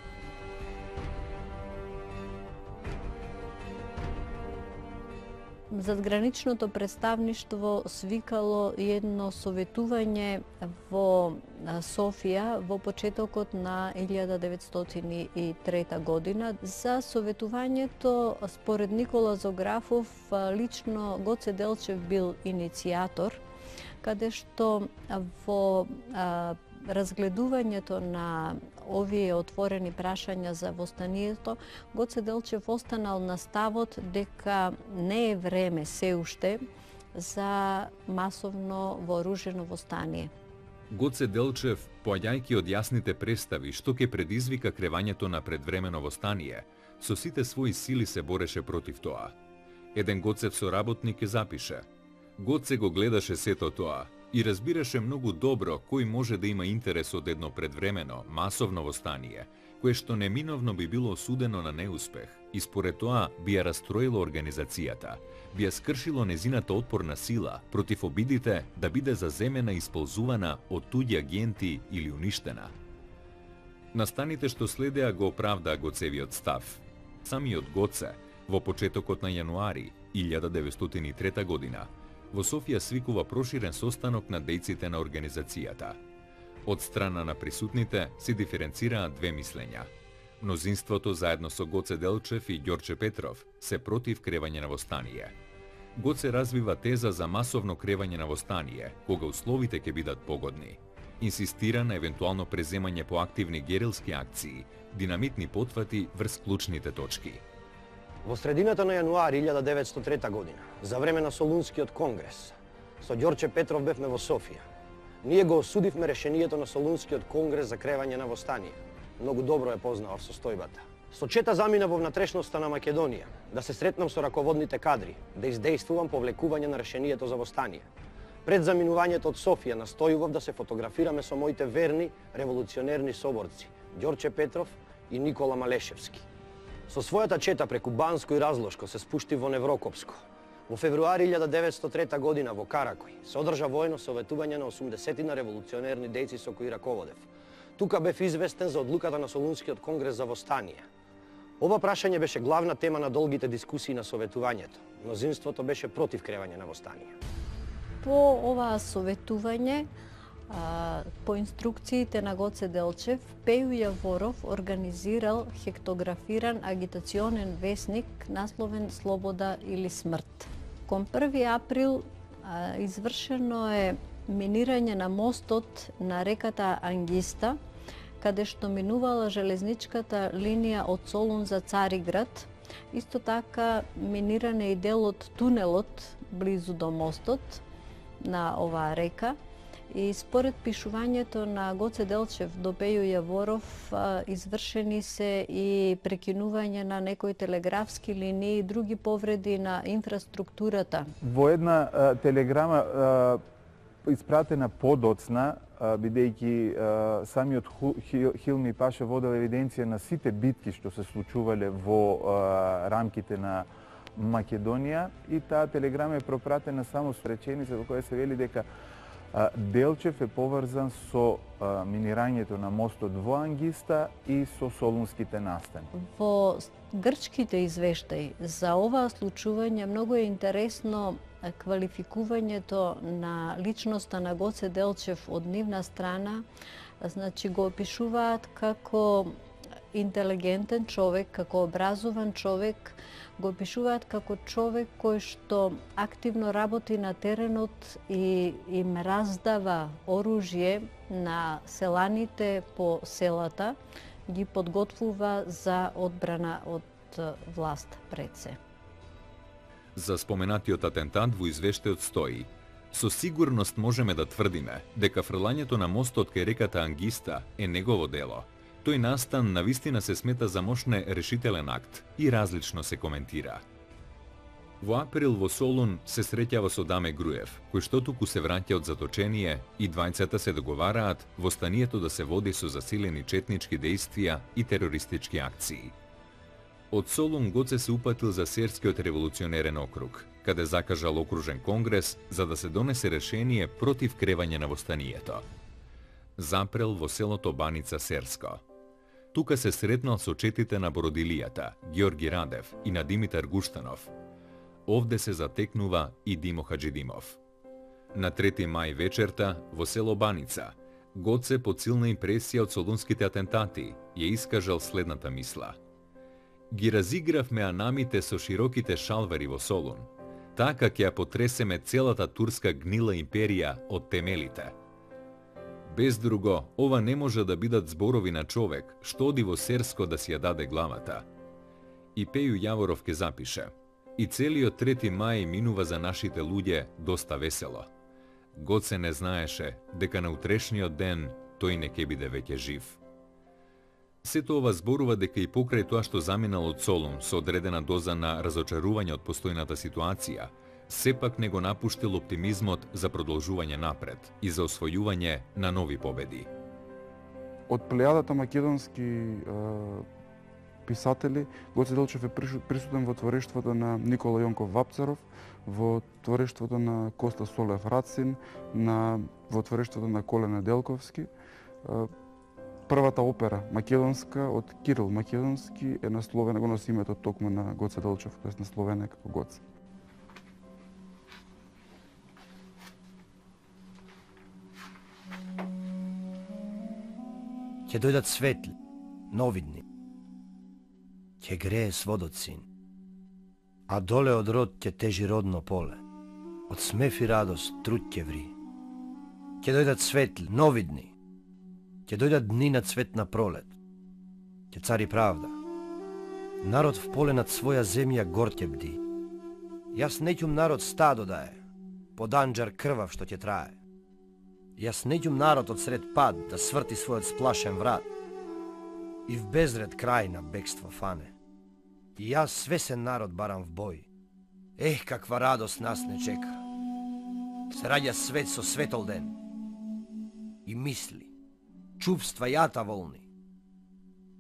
Задграничното представништво свикало едно советување во Софија во почетокот на 1903 година. За советувањето, според Никола Зографов, лично Гоце Делчев бил иницијатор, каде што во разгледувањето на овие отворени прашања за востанието, Гоце Делчев останал на ставот дека не е време се уште за масовно вооружено востание. Гоце Делчев, поаѓајќи од јасните представи што ќе предизвика кревањето на предвремено востание, со сите своји сили се бореше против тоа. Еден Гоцев соработник ќе запише: Гоце го гледаше сето тоа, и разбираше многу добро кој може да има интерес од едно предвремено, масовно востание, кое што неминовно би било осудено на неуспех и според тоа би ја растроило организацијата, би ја скршило незината отпорна сила против обидите да биде заземена и исползувана од туѓи агенти или уништена. Настаните што следеа го оправдаа Гоцевиот став. Самиот Гоце, во почетокот на јануари 1903 година, во Софија свикува проширен состанок на дејците на организацијата. Од страна на присутните се диференцираат две мислења. Мнозинството заедно со Гоце Делчев и Ѓорче Петров се против кревање на востание. Гоце развива теза за масовно кревање на востание, кога условите ќе бидат погодни. Инсистира на евентуално преземање по активни герилски акции, динамитни потфати врз клучните точки. Во средината на јануари 1903 година, за време на Солунскиот конгрес, со Ѓорче Петров бевме во Софија. Ние го осудивме решението на Солунскиот конгрес за кревање на востание. Многу добро е познавав состојбата. Со чета замина во внатрешноста на Македонија, да се сретнам со раководните кадри, да издействувам повлекување на решението за востание. Пред заминувањето од Софија настојував да се фотографираме со моите верни револуционерни соборци, Ѓорче Петров и Никола Малешевски. Со својата чета преку Банско и Разлошко се спушти во Неврокопско. Во февруари 1903 година во Каракој се одржа воено советување на 80 револуционерни дејци со кои раководев. Тука бев известен за одлуката на Солунскиот конгрес за востание. Ова прашање беше главна тема на долгите дискусии на советувањето. Мнозинството беше против кревање на востание. По ова советување, по инструкциите на Гоце Делчев, Пеју Јаворов организирал хектографиран агитационен весник насловен Слобода или смрт. Кон 1 април извршено е минирање на мостот на реката Ангиста, каде што минувала железничката линија од Солун за Цариград. Исто така миниран е и дел од тунелот близу до мостот на оваа река. И според пишувањето на Гоце Делчев до Пеју Јаворов, извршени се и прекинување на некои телеграфски линии и други повреди на инфраструктурата. Во една телеграма испратена подоцна, бидејќи самиот Хилми Паша водел евиденција на сите битки што се случувале во рамките на Македонија, и таа телеграма е пропратена само со реченица во која се вели дека Делчев е поврзан со минирањето на мостот во Ангиста и со солунските настани. Во грчките извештаи за оваа случување многу е интересно квалификувањето на личноста на Гоце Делчев од нивна страна. Значи го опишуваат како интелигентен човек, како образован човек, го опишуваат како човек кој што активно работи на теренот и им раздава оружје на селаните по селата, ги подготвува за одбрана од власт пред се. За споменатиот атентат во извештајот стои: со сигурност можеме да тврдиме дека фрлањето на мостот кај реката Ангиста е негово дело. Тој настан навистина се смета за мощне решителен акт и различно се коментира. Во април во Солун се среќава со Даме Груев, кој што туку се враќа од заточение, и двајцата се договараат востанието да се води со засилени четнички дејствија и терористички акции. Од Солун Гоце се упатил за Серскиот револуционерен округ, каде закажал окружен конгрес за да се донесе решение против кревање на востанието. Запрел во селото Баница Серско. Тука се сретнал со четите на Бородилијата, Георги Радев и на Димитар Гуштанов. Овде се затекнува и Димо Хаджидимов. На 3 мај вечерта во село Баница, Гоце под силна импресија од солунските атентати ја искажал следната мисла: ги разигравме анамите со широките шалвари во Солун, така ќе ја потресеме целата турска гнила империја од темелите. Без друго, ова не може да бидат зборови на човек што оди во Серско да си ја даде главата. И Пеју Јаворов ке запише: и целиот 3 мај минува за нашите луѓе доста весело. Гоце не знаеше дека на утрешниот ден тој не ке биде веќе жив. Сето ова зборува дека и покрај тоа што заминал од Солун со одредена доза на разочарување од постојната ситуација, сепак не го напуштил оптимизмот за продолжување напред и за освојување на нови победи. Од плејадата македонски писатели, Гоце Делчев е присутен во творештвото на Никола Јонков Вапцаров, во творештвото на Коста Солев Рацин, во творештвото на Колена Делковски. Првата опера македонска од Кирил Македонски е насловена, го носи името токму на Гоце Делчев, тоест насловена како Гоце. Ќе дојдат светли, новидни. Ќе грее сводот син. А доле од род ќе тежи родно поле. Од смев и радост труд ќе ври. Ќе дојдат светли, новидни. Ќе дојдат дни на цветна пролет. Ќе цари правда. Народ в поле над своја земја гор ќе бди. Јас неќум народ стадо да е, под анџар крвав што ќе трае. Јас неќум народ од сред пад да сврти својот сплашен врат и в безред крај на бегство фане. И јас свесен народ барам в бој. Ех, каква радост нас не чека. Се раѓа свет со светол ден. И мисли, чувства јата волни,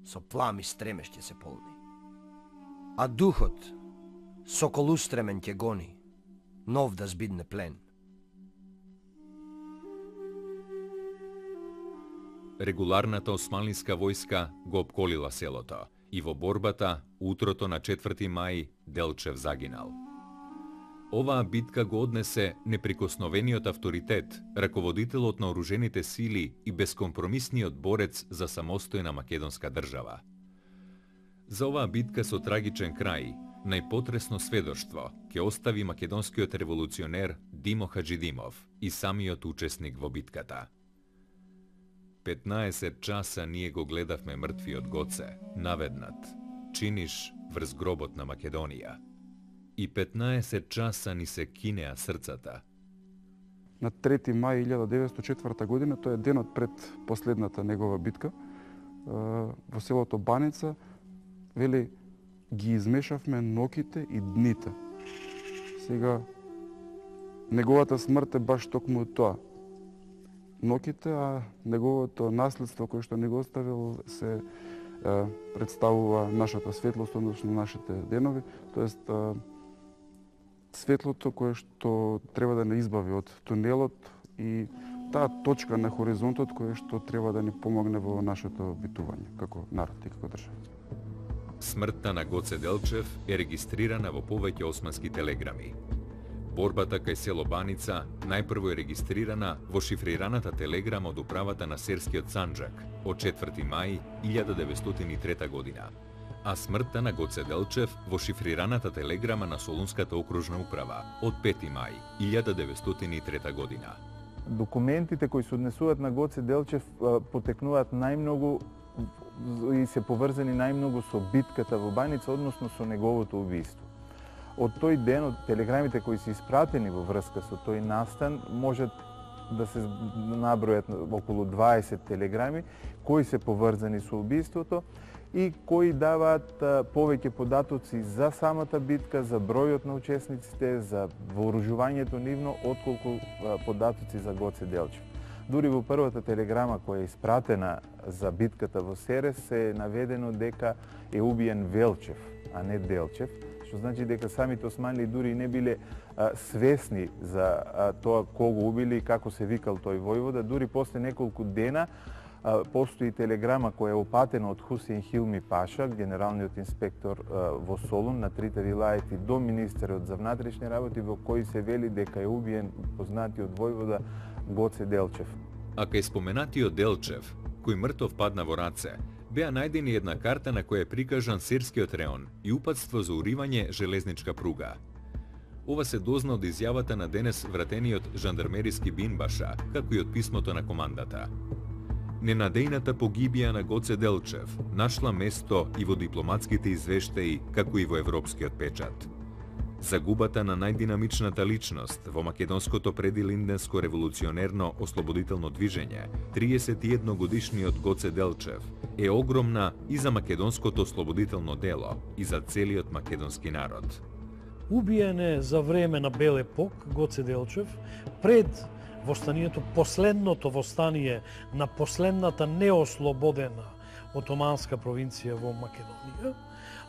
со плами стремеш ќе се полни. А духот, сокол устремен ќе гони, нов да збидне плен. Регуларната османлиска војска го опколила селото и во борбата утрото на 4 мај Делчев загинал. Оваа битка го однесе неприкосновениот авторитет, раководителот на оружените сили и бескомпромисниот борец за самостојна македонска држава. За оваа битка со трагичен крај, најпотресно сведоштво ќе остави македонскиот револуционер Димо Хаџидимов и самиот учесник во битката. 15 часа ние го гледавме мртвиот Гоце, наведнат, чиниш врз гробот на Македонија. И 15 часа ни се кинеа срцата. На 3 мај 1904 година, тој е денот пред последната негова битка, во селото Баница, вели, ги измешавме ноките и дните. Сега, неговата смрт е баш токму тоа. Ноките, а неговото наследство кое што не го оставил се представува нашата светлост, односно нашите денови, тоест светлото кое што треба да не избави од тунелот и таа точка на хоризонтот кое што треба да ни помогне во нашето битување како народ и како држава. Смртта на Гоце Делчев е регистрирана во повеќе османски телеграми. Борбата кај село Баница најпрво е регистрирана во шифрираната телеграма од управата на Серскиот Санџак од 4 мај 1903 година, а смртта на Гоце Делчев во шифрираната телеграма на Солунската окружна управа од 5 мај 1903 година. Документите кои се однесуваат на Гоце Делчев потекнуваат најмногу и се поврзани најмногу со битката во Баница, односно со неговото убиство. Од тој ден, од телеграмите кои се испратени во врска со тој настан, можат да се набројат околу 20 телеграми кои се поврзани со убиството и кои даваат повеќе податоци за самата битка, за бројот на учесниците, за вооружувањето нивно, отколку податоци за Гоце Делчев. Дури во првата телеграма која е испратена за битката во Серес е наведено дека е убиен Велчев, а не Делчев, што значи дека самите османли дури не биле свесни за тоа кого убили и како се викал тој војвода. Дури после неколку дена постои телеграма која е опатена од Хусеин Хилми Паша, генералниот инспектор во Солун, на трите вилаети до министерот за внатрешни работи, во кој се вели дека е убиен познатиот војвода Гоце Делчев. А кај споменатиот Делчев, кој мртов падна во раце, беа најдени една карта на која е прикажан Серскиот реон и упатство за уривање железничка пруга. Ова се дозна од изјавата на денес вратениот жандармериски бинбаша, како и од писмото на командата. Ненадејната погибија на Гоце Делчев нашла место и во дипломатските извештаи, како и во европскиот печат. Загубата на најдинамичната личност во македонското предилинденско револуционерно ослободително движење, 31 годишниот Гоце Делчев, е огромна и за македонското ослободително дело и за целиот македонски народ. Убиен е за време на Бел епок Гоце Делчев, пред востанието, последното востание на последната неослободена отоманска провинција во Македонија,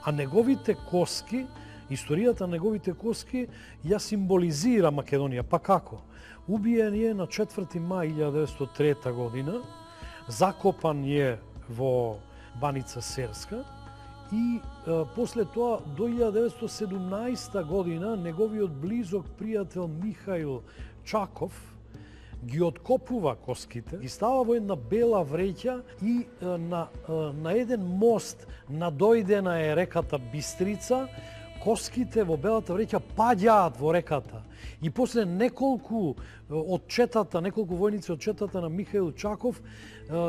а неговите коски, историјата на неговите коски ја символизира Македонија. Па како? Убиен е на 4. мај 1903 година, закопан е во Баница Серска и после тоа до 1917 година неговиот близок пријател Михаил Чаков ги откопува коските, ги става во една бела вреќа и на еден мост надојдена е реката Бистрица, коските во белата вреќа паѓаат во реката. И после неколку војници од четата на Михаил Чаков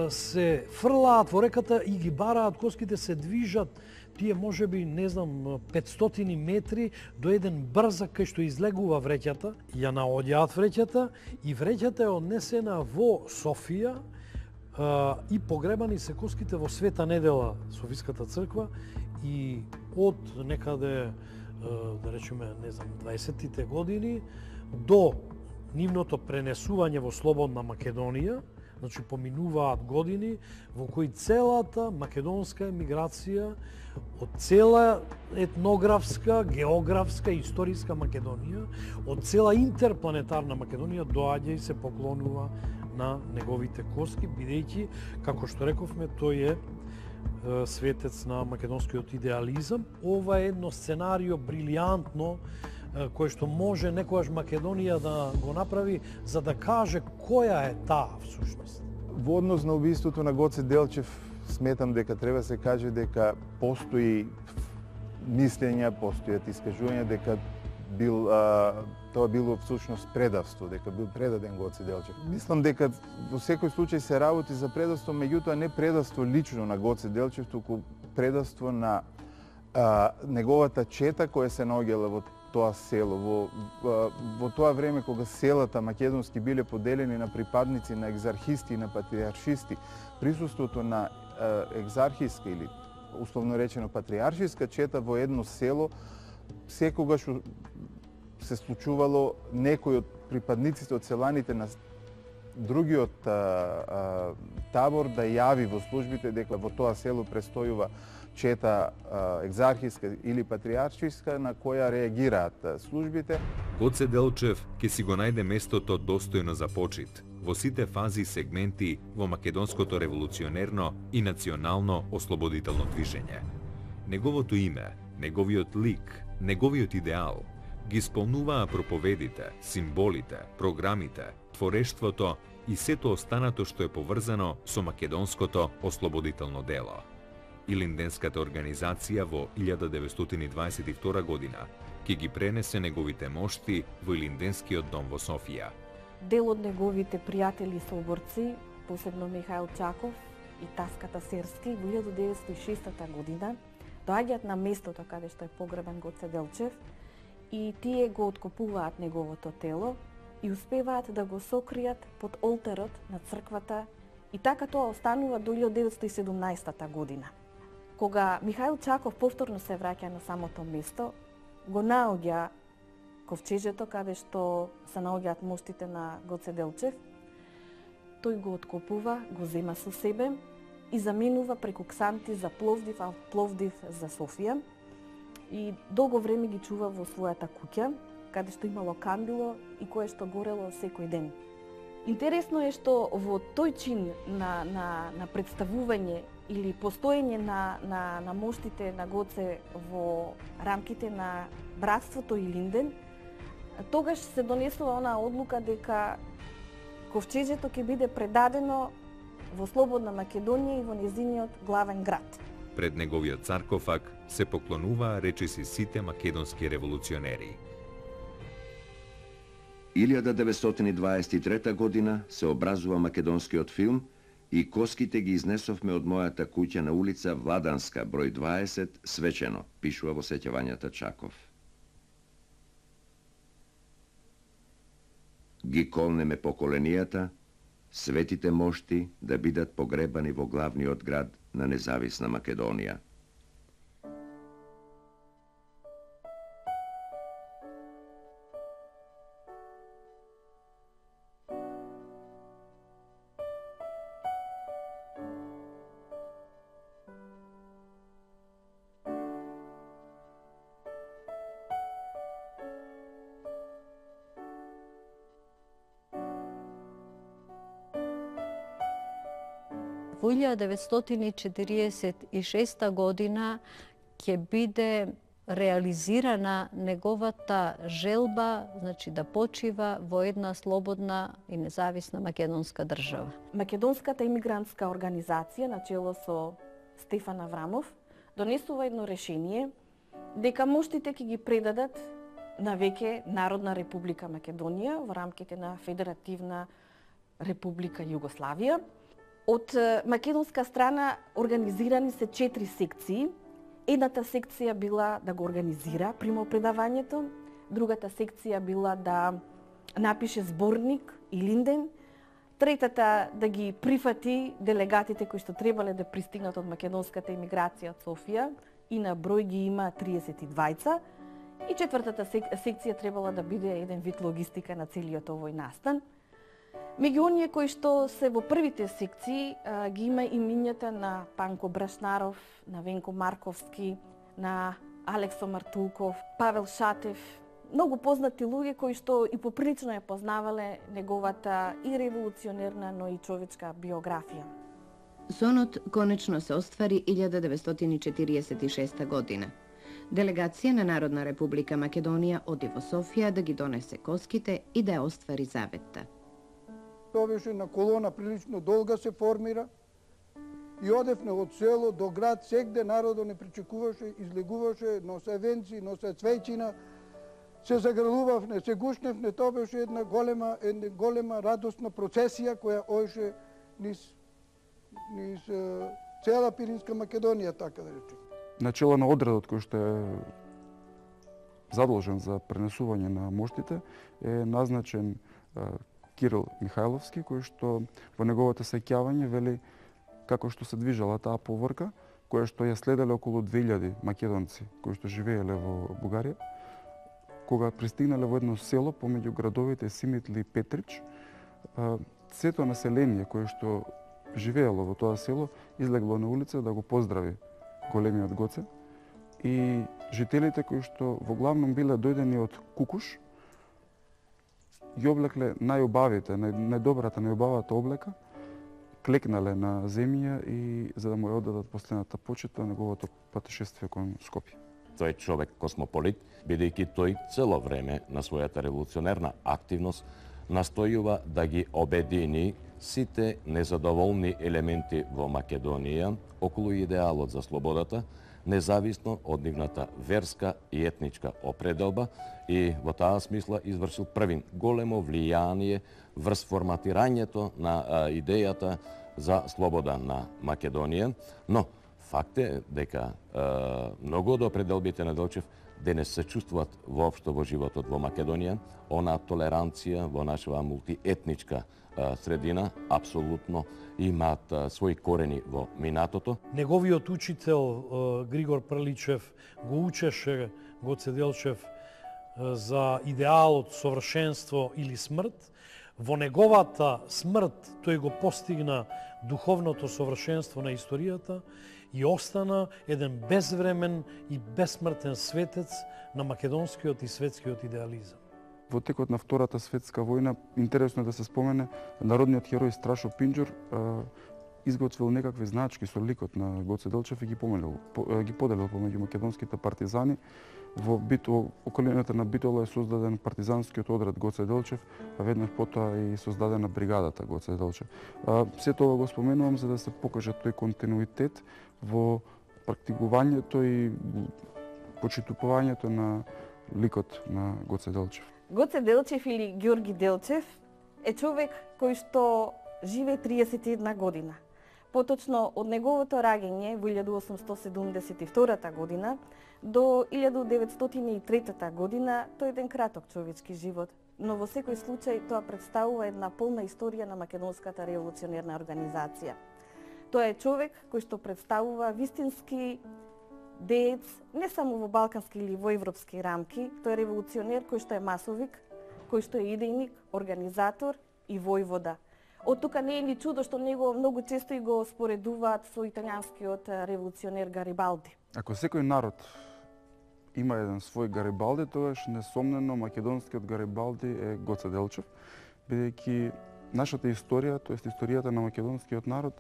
се фрлаат во реката и ги бараат коските, се движат тие можеби, не знам, 500 метри до еден брзак кај што излегува вреќата, ја наоѓаат вреќата и вреќата е однесена во Софија и погребани се коските во Света Недела, Софиската црква, и од некаде, да речеме, не знам, 20-тите години до нивното пренесување во слободна Македонија, значи поминуваат години во кои целата македонска емиграција од цела етнографска, географска и историска Македонија, од цела интерпланетарна Македонија доаѓа и се поклонува на неговите коски, бидејќи, како што рековме, тој е светец на македонскиот идеализам. Ова е едно сценарио брилијантно, кое што може некогаш Македонија да го направи за да каже која е таа всушност. Во однос на убиството на Гоце Делчев, сметам дека треба се каже дека постои мислења, постојат искажувања дека тоа било всушност предавство, дека бил предаден Гоце Делчев. Мислам дека во секој случај се работи за предавство, меѓутоа не предавство лично на Гоце Делчев, туку предавство на неговата чета која се наоѓала во тоа село. Во тоа време кога селата македонски биле поделени на припадници на екзархисти и на патриаршисти, присуството на екзархиска или условно речено патриаршиска чета во едно село секогаш се случувало некој од припадниците од селаните на другиот табор да јави во службите дека во тоа село престојува чета екзархиска или патриаршиска, на која реагираат службите. Гоце Делчев ќе си го најде местото достојно за почит во сите фази и сегменти во македонското револуционерно и национално ослободително движење. Неговото име, неговиот лик, неговиот идеал ги исполнуваа проповедите, символите, програмите, творештвото и сето останато што е поврзано со македонското ослободително дело. Илинденската организација во 1922 година ќе ги пренесе неговите мошти во Илинденскиот дом во Софија. Дел од неговите пријатели и соборци, посебно Михаил Чаков и Таската Серски, во 1906 година доаѓаат на местото каде што е погребан Гоце Делчев и тие го откопуваат неговото тело и успеваат да го сокријат под олтарот на црквата и така тоа останува до 1917 година. Кога Михаил Чаков повторно се враќа на самото место, го наоѓа ковчежето каде што се наоѓаат моштите на Гоце Делчев, тој го откопува, го зема со себе и заминува преку Ксанти за Пловдив, а Пловдив за Софија и долго време ги чува во својата куќа, каде што имало кандило и кое што горело секој ден. Интересно е што во тој чин на представување или постоење на моштите на Гоце во рамките на братството Илинден, тогаш се донесува онаа одлука дека ковчежето ќе биде предадено во слободна Македонија и во незиниот главен град. Пред неговиот саркофаг се поклонуваа речиси сите македонски револуционери. 1923 година се образува македонскиот филм и коските ги изнесовме од мојата куќа на улица Владанска, број 20, свечено, пишува во сеќавањата Чаков. Ги колнеме поколенијата, светите мошти да бидат погребани во главниот град на независна Македонија. Во 1946 година ќе биде реализирана неговата желба, значи да почива во една слободна и независна македонска држава. Македонската имигрантска организација на чело со Стефан Аврамов донесува едно решение дека моштите ќе ги предадат на веќе Народна република Македонија во рамките на Федеративна република Југославија. Од македонска страна организирани се 4 секции. Едната секција била да го организира примопредавањето, другата секција била да напише зборник и линден, третата да ги прифати делегатите кои што требале да пристигнат од македонската емиграција од Софија, и на број ги има 32, и четвртата секција требала да биде еден вид логистика на целиот овој настан. Меѓу оние кои што се во првите секции ги има имињата на Панко Брашнаров, на Венко Марковски, на Алексо Мартулков, Павел Шатев, многу познати луѓе кои што и поприлично ја познавале неговата и револуционерна, но и човечка биографија. Сонот конечно се оствари 1946 година. Делегација на Народна република Македонија оди во Софија да ги донесе коските и да ја оствари заветта. Тоа беше на колона прилично долга се формира и одевме од село до град, сегде народот не причекуваше, излегуваше, носе венци, носе цвеќина, се загрелувавне, се гушневне, тоа беше една голема радосна процесија која оеше низ цела Пиринска Македонија, така да речем. Начело на одредот кој што е задолжен за пренесување на моштите е назначен Кирил Михајловски, кој што во неговото сеќавање вели како што се движала таа поврка, која што ја следеле околу 2000 македонци кои што живееле во Бугарија. Кога пристигнале во едно село помеѓу градовите Симитли и Петрич, сето население кое што живеело во тоа село излегло на улица да го поздрави големиот Гоце, и жителите кои што во главном биле дојдени од Кукуш ги облекле најубавите, најубавата облека, клекнале на земја и за да му ја оддадат последната почит на неговото патешествие кон Скопје. Тој е човек космополит, бидејќи тој цело време на својата револуционерна активност настојува да ги обедини сите незадоволни елементи во Македонија околу идеалот за слободата, независно од нивната верска и етничка определба, и во таа смисла извршил првин големо влијание врз форматирањето на идејата за слобода на Македонија, но факт е дека многу од определбите на Делчев денес се чувствуваат воопшто во животот во Македонија. Она толеранција во нашава мултиетничка средина апсолутно имаат своји корени во минатото. Неговиот учител Григор Прличев го учеше Гоце Делчев за идеалот совршенство или смрт. Во неговата смрт тој го постигна духовното совршенство на историјата и остана еден безвремен и безсмртен светец на македонскиот и светскиот идеализам. Во текот на Втората светска војна, интересно е да се спомене, народниот херој Страшо Пинџур изготвил некакви значки со ликот на Гоце Делчев и ги поделил помеѓу македонските партизани. Во околината на Битола е создаден партизанскиот одред Гоце Делчев, а веднаш потоа и создадена бригадата Гоце Делчев. Се тоа го споменувам за да се покаже тој континуитет во практикувањето и почитувањето на ликот на Гоце Делчев. Гоце Делчев или Ѓорги Делчев е човек кој што живее 31 година. Поточно од неговото раѓање во 1872 година до 1903 година тој е еден краток човечки живот, но во секој случај тоа представува една полна историја на македонската револуционерна организација. Тоа е човек кој што представува вистински деец не само во балкански или во европски рамки, тој е револуционер кој што е масовик, кој што е идејник, организатор и војвода. Од тука не е ни чудо што него многу често и го споредуваат со италијанскиот револуционер Гарибалди. Ако секој народ има еден свој Гарибалди, тогаш несомнено македонскиот Гарибалди е Гоце Делчев, бидејќи нашата историја, тоест историјата на македонскиот народ,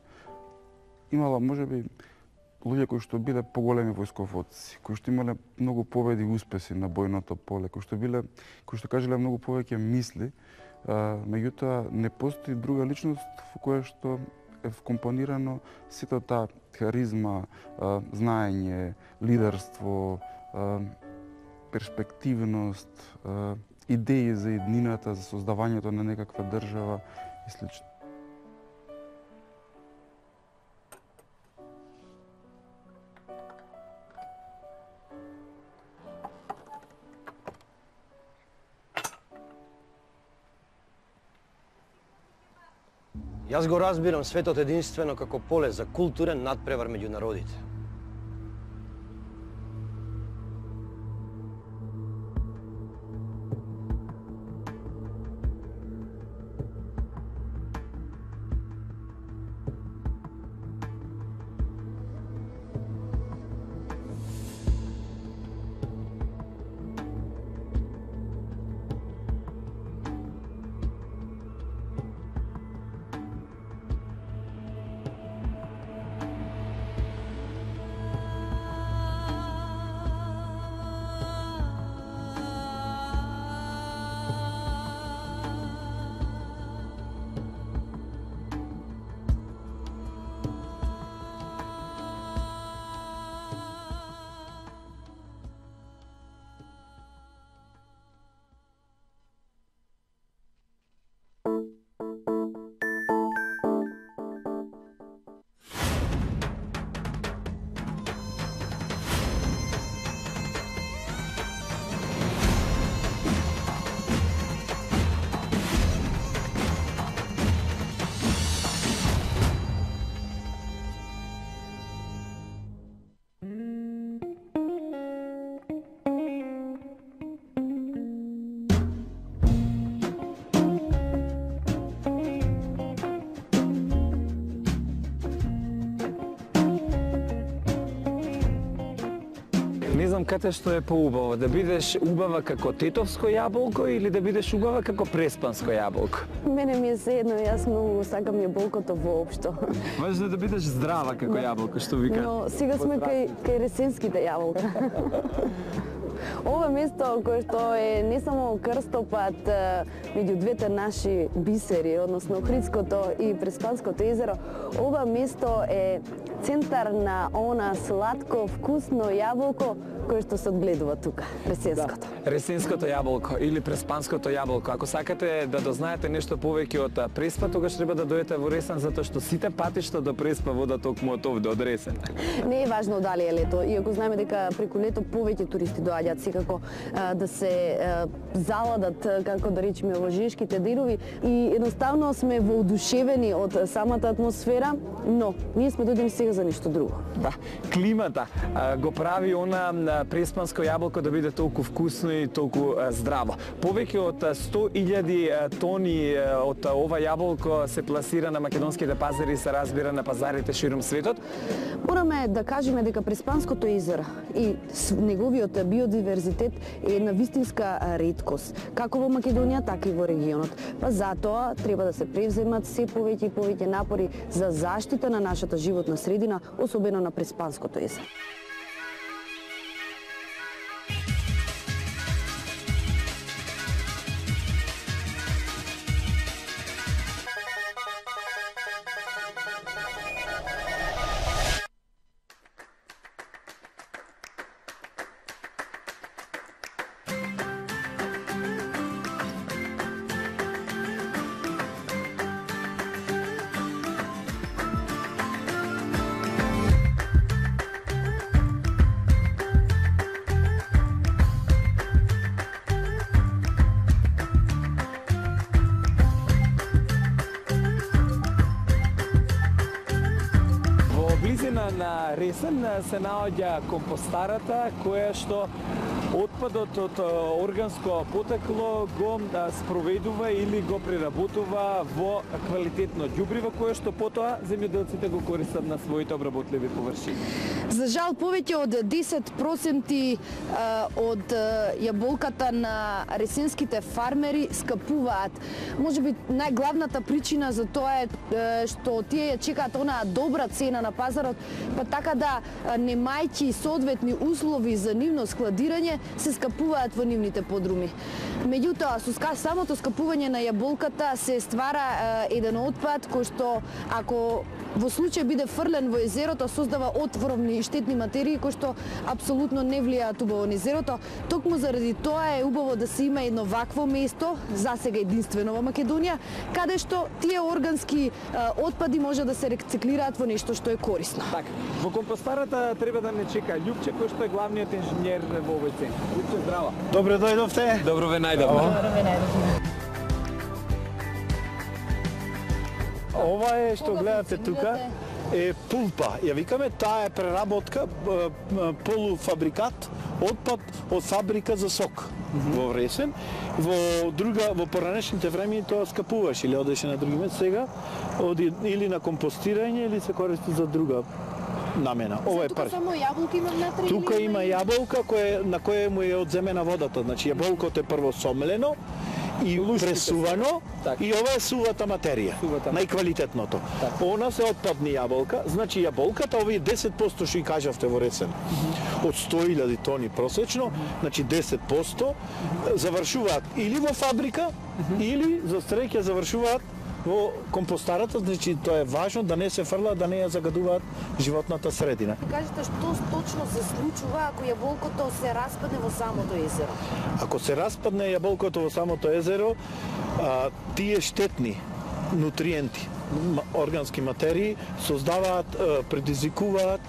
имала можеби луѓе кои што биле поголеми војсководци, кои што имале многу победи и успеси на бојното поле, кои што кажале многу повеќе мисли, меѓутоа не постои друга личност во која што е вкомпонирано сето таа харизма, знаење, лидерство, перспективност, идеи за иднината, за создавањето на некаква држава и слично. Јас го разбирам светот единствено како поле за културен надпревар меѓу народите. Не знам кате што е поубаво, да бидеш убава како тетовско јаболко или да бидеш убава како преспанско јаболко? Мене ми е седно, јас многу сакам јаболкото воопшто. Важно е да бидеш здрава како јаболко, што вика. Но сега сме кај ресенските јаболка. Ова место кое што е не само крстопат меѓу двете наши бисери, односно Охридското и Преспанското езеро, ова место е центар на она сладко, вкусно јаболко кое што се одгледува тука, ресенското. Да, ресенското јаболко или преспанското јаболко. Ако сакате да дознаете нешто повеќе од Преспа, тогаш треба да дојдете во Ресен, затоа што сите патишта до Преспа водат токму од овде, од Ресен. Не е важно дали е лето, иако знаеме дека преку лето повеќе туристи доаѓаат секако да се заладат, како да речеме, во Жешките денови и едноставно сме воодушевени од самата атмосфера, но ние сме дојдени сега за нешто друго. Да, климата го прави она преспанско јаболко да биде толку вкусно и толку здраво. Повеќе од 100.000 тони од ова јаболко се пласира на македонските пазари и се разбира на пазарите ширум светот. Мораме да кажеме дека Преспанското езеро и неговиот биодиверзитет е една вистинска реткост, како во Македонија, така и во регионот. Па затоа треба да се превземат се повеќе и повеќе напори за заштита на нашата животна средина, особено на Преспанското езеро. На Ресен се наоѓа компостарата, која што отпадот од органско потекло го спроведува или го преработува во квалитетно ѓубриво, кое што потоа земјоделците го користат на своите обработливи површини. За жал, повеќе од 10% од јаболката на ресенските фармери скапуваат. Можеби најглавната причина за тоа е што тие ја чекаат онаа добра цена на пазарот, па така да немајќи соодветни услови за нивно складирање, се скапуваат во нивните подруми. Меѓутоа, со самото скапување на јаболката се ствара еден отпад кој што, ако во случај биде фрлен во езерото, создава отворовни и штетни материи кои што апсолутно не влијаат убаво на езерото. Токму заради тоа е убаво да се има едно вакво место, засега единствено во Македонија, каде што тие органски отпади може да се рециклираат во нешто што е корисно. Така, во компостарата треба да не чека Љупче, кој што е главниот инженер во овој центар. Љупче, здраво. Добре дојдовте. Добро ве најдовме. Добро ве најдовме. Ова е што гледате тука е пулпа. Ја викаме, таа е преработка, полуфабрикат, отпад од фабрика за сок во Вресен. Во поранешните време тоа скапуваше или одеше на други места, сега оди или на компостирање или се користи за друга намена. Ова е тука само јаболки има внатре? Тука има јаболка на која му е одземена водата. Значи јаболкото е прво сомлено и пресувано, и ова е сувата материја, најквалитетното. Она се отпадни јаболка, значи јаболката, овие 10% што и кажавте во Ресен, од 100.000 тони просечно, значи 10% завршуваат или во фабрика, или за среќа завршуваат во компостарата, значи тоа е важно да не се фрла, да не ја загадуваат животната средина. Кажете, што точно се случува ако јаболкото се распадне во самото езеро? Ако се распадне јаболкото во самото езеро, тие штетни нутриенти, органски материи, создаваат, предизвикуваат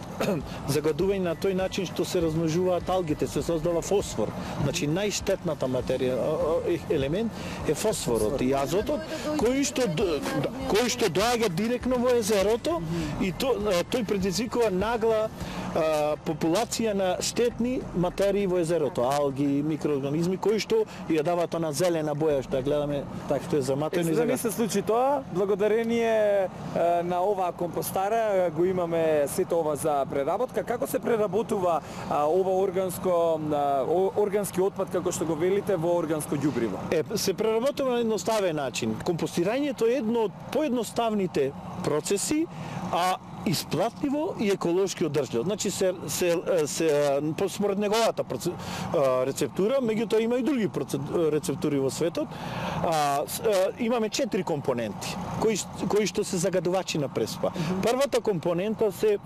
загадување на тој начин што се размножуваат алгите, се создава фосфор. Значи најштетната материја, елемент е фосфорот и азотот, кој што доаѓа директно во езерото и тој предизвикува нагла популација на штетни материи во езерото, алги, микроорганизми кои што ја даваат она зелена боја што ја гледаме, што е заматено. За да ми се случи тоа, благодарение на оваа компостара го имаме сето ова за преработка. Како се преработува ова органски отпад, како што го велите, во органско ѓубриво? Се преработува на едноставен начин. Компостирањето е едно од поедноставните процеси, а исплатливо и еколошки одржливо. Значи според неговата рецептура, меѓутоа има и други рецептури во светот. Имаме 4 компоненти кои што се загадувачи на преспа. Првата компонента се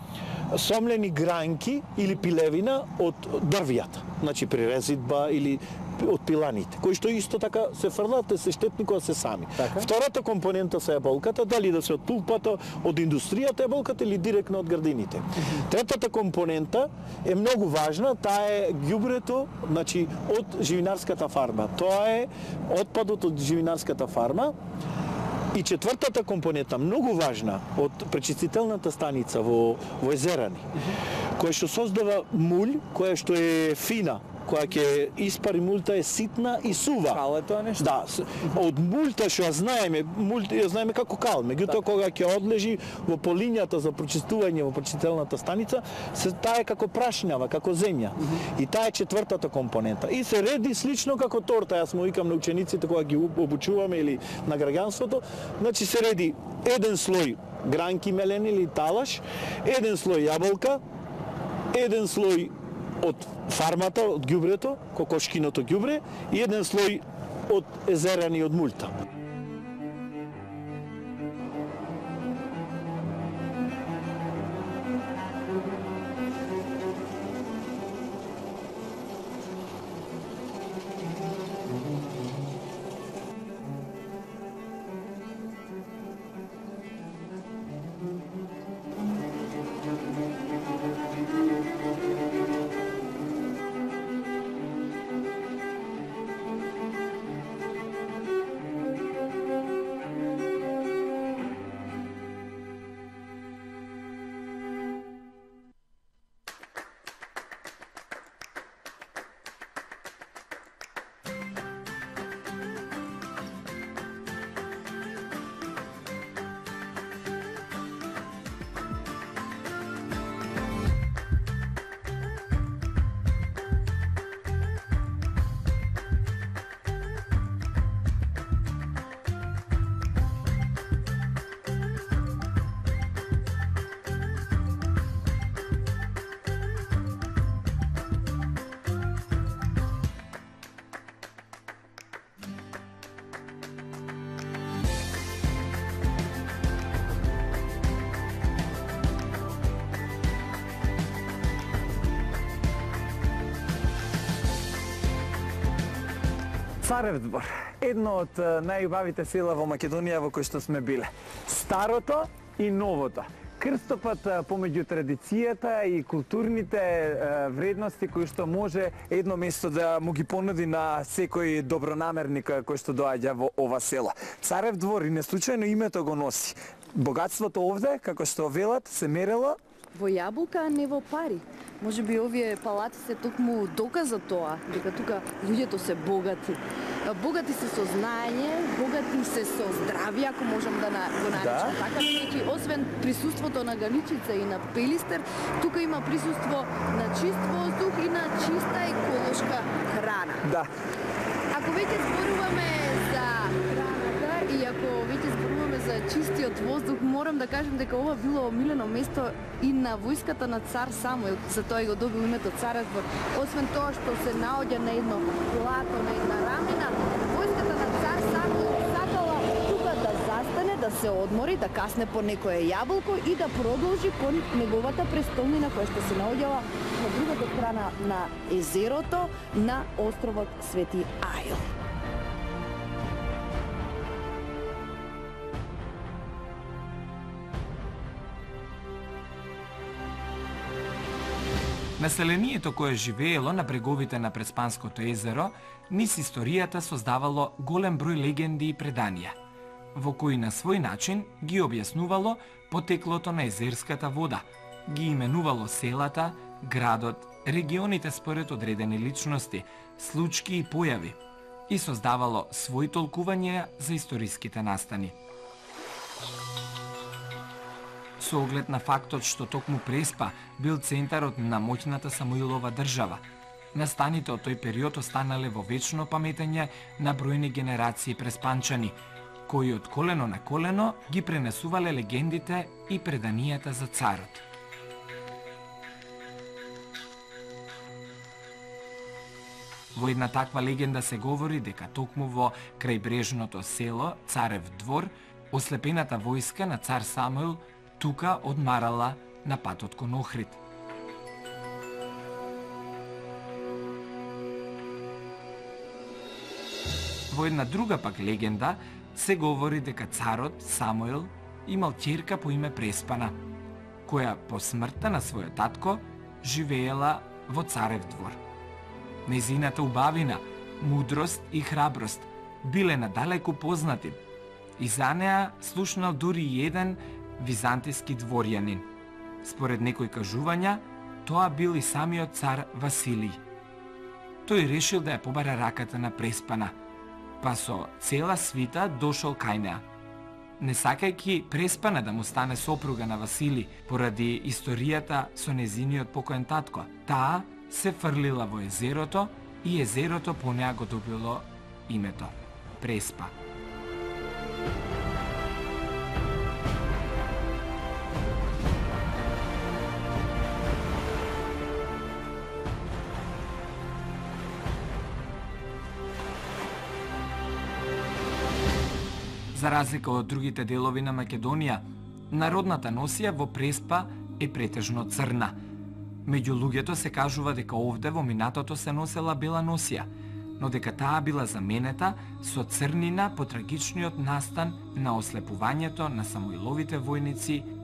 сомлени гранки или пилевина од дрвјата, значи при резидба или од пиланите, кои што исто така се фрлат, се штетни кога се сами. Втората компонента се јаболката, дали да се од пулпата, од индустријата јаболката или директно од градините. Третата компонента е многу важна, таа е ѓубрето, значи од живинарската фарма. Тоа е отпадот од живинарската фарма. И четвртата компонента, многу важна, од пречистителната станица во езерани, која што создава мулј, која што е фина, која ќе испари мулта е ситна и сува. Кал е тоа нешто? Да, од мулта што ја знаеме како кал, меѓутоа кога ќе одлежи во полињата за прочистување во прочистителната станица, таа е како прашњава, како земја. И таа е четвртата компонента. И се реди слично како торта, јас му викам на учениците кога ги обучуваме или на граѓанството, значи се реди еден слој гранки мелени или талаш, еден слој јаболка, еден слој од фармата, од ѓубрето, кокошкиното ѓубре и еден слој од езерани од мулта. Царев двор, едно од најубавите села во Македонија во кој што сме биле. Старото и новото. Крстопат помеѓу традицијата и културните вредности кои што може едно место да му ги понуди на секој добронамерник кој што доаѓа во ова село. Царев двор и неслучајно името го носи. Богатството овде, како што велат, се мерело во јаболка, а не во пари. Може би овие палати се токму доказ за тоа, дека тука луѓето се богати. Богати се со знаење, богати се со здравје, ако можам да го наречам така, бидејќи освен присуството на Ганичица и на Пелистер, тука има присуство на чист воздух и на чиста еколошка храна. Да. Ако веќе зборуваме за храната и ако веќе зборуваме за чистиот воздух, морам да кажем дека ова било омилено место и на војската на цар Самуил, затоа и го добил името Царев двор. Освен тоа што се наоѓа на едно плато, на една рамена, војската на цар Самуил сакала тука да застане, да се одмори, да касне по некое јаболко и да продолжи кон неговата престолнина која што се наоѓала на другата страна на езерото на островот Свети Ајл. Населението кое живеело на бреговите на Преспанското езеро, низ историјата создавало голем број легенди и преданија, во кои на свој начин ги објаснувало потеклото на езерската вода, ги именувало селата, градот, регионите според одредени личности, случки и појави и создавало свои толкувања за историските настани. Со оглед на фактот што токму Преспа бил центарот на моќната Самуилова држава, настаните од тој период останале во вечно паметење на бројни генерации преспанчани, кои од колено на колено ги пренесувале легендите и преданијата за царот. Во една таква легенда се говори дека токму во крајбрежното село Царев двор, ослепената војска на цар Самуил тука одмарала на патот кон Охрид. Во една друга пак легенда се говори дека царот Самуил имал ќерка по име Преспана, која по смртта на својот татко живеела во Царев двор. Нејзината убавина, мудрост и храброст биле надалеку познати и за неа слушнал дури и еден византиски дворјанин. Според некои кажувања, тоа бил и самиот цар Василий. Тој решил да ја побара раката на Преспана, па со цела свита дошол кај неа. Не сакајќи Преспана да му стане сопруга на Василий поради историјата со незиниот покоен татко, таа се фрлила во езерото и езерото по неа го добило името Преспа. За разлика од другите делови на Македонија, народната носија во Преспа е претежно црна. Меѓу луѓето се кажува дека овде во минатото се носела бела носија, но дека таа била заменета со црнина по трагичниот настан на ослепувањето на Самуиловите војници .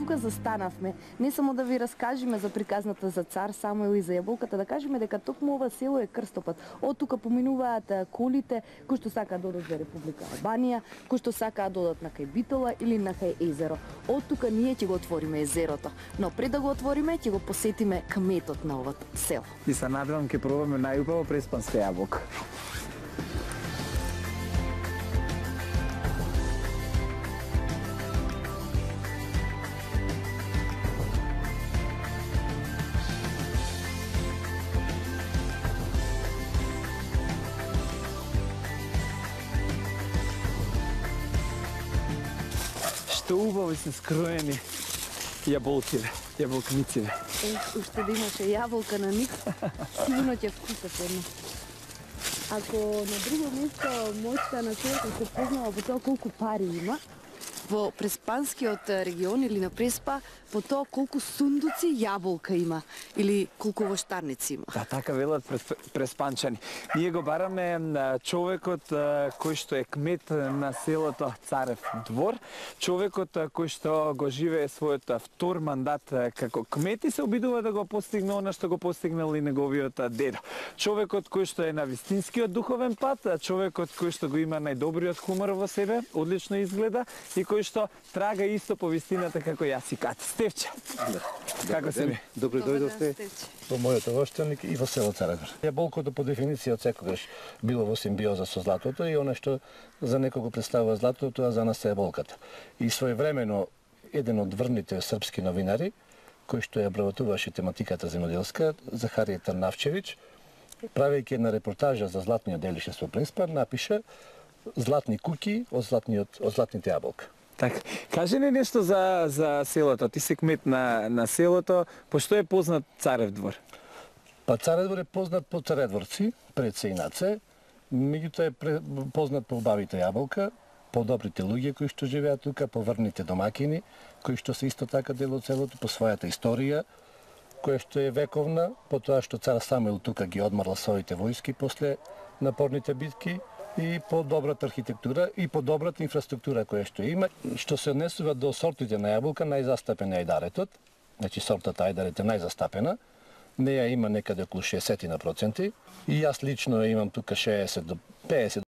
Тука застанавме, не само да ви раскажеме за приказната за цар Самуил и за јаболката, да кажеме дека токму ова село е крстопат. Од тука поминуваат колите кои што сакаат да одат во Република Албанија, кои што сакаат да одат на кај Битола или на кај езеро. Од тука ние ќе го отвориме езерото, но пред да го отвориме ќе го посетиме кметот на ова село. И се надевам ќе пробаме најубаво преспанска јаболка. Што убаво се скроени јаболките, јаболкниците. Уште да имаше јаболка на них, сигурно ќе вкусат едно. Ако на друго место моќта на селото се познава по тоа колку пари има, во Преспанскиот регион или на Преспа по тоа колку сундуци јаболка има или колку воштарници има. Да, така велат преспанчани. Ние го бараме човекот кој што е кмет на селото Царев двор, човекот кој што го живее својот втор мандат како кмет и се обидува да го постигне она што го постигнал и неговиот дедо. Човекот кој што е на вистинскиот духовен пат, човекот кој што го има најдобриот хумор во себе, одлично изгледа и кој што трага исто по вистината како јас и Кати. Стефче, како се ми? Добро дојдовте во мојот овоштаник и во село Царев двор. Јаболкото по дефиниција од секогаш било во симбиоза со златото и она што за некого представува златото, тоа за нас е јаболката. И своевремено еден од врните српски новинари, кој што ја обработуваше тематиката земјоделска, Захарија Тарнавчевиќ, правејќи една репортажа за златниот делишес во Преспа, напиша златни куки од златните јаболка. Така, кажи ни нешто за селото. Ти си кмет на селото. По што е познат Царев двор? Па Царев двор е познат по царедворци, пред се и над се. Меѓутоа е познат по убавите јаболка, по добрите луѓе кои што живеат тука, по врните домакини, кои што се исто така дел од селото, по својата историја, која што е вековна, по тоа што цар Самуил тука ги одмарла своите војски после напорните битки, и по добрата архитектура и по добрата инфраструктура која што има. Што се однесува до сортите на јаболка, најзастапен е ајдаретот, значи сортата ајдарет е најзастапена, неја има некаде околу 60% и јас лично имам тука 60 до 50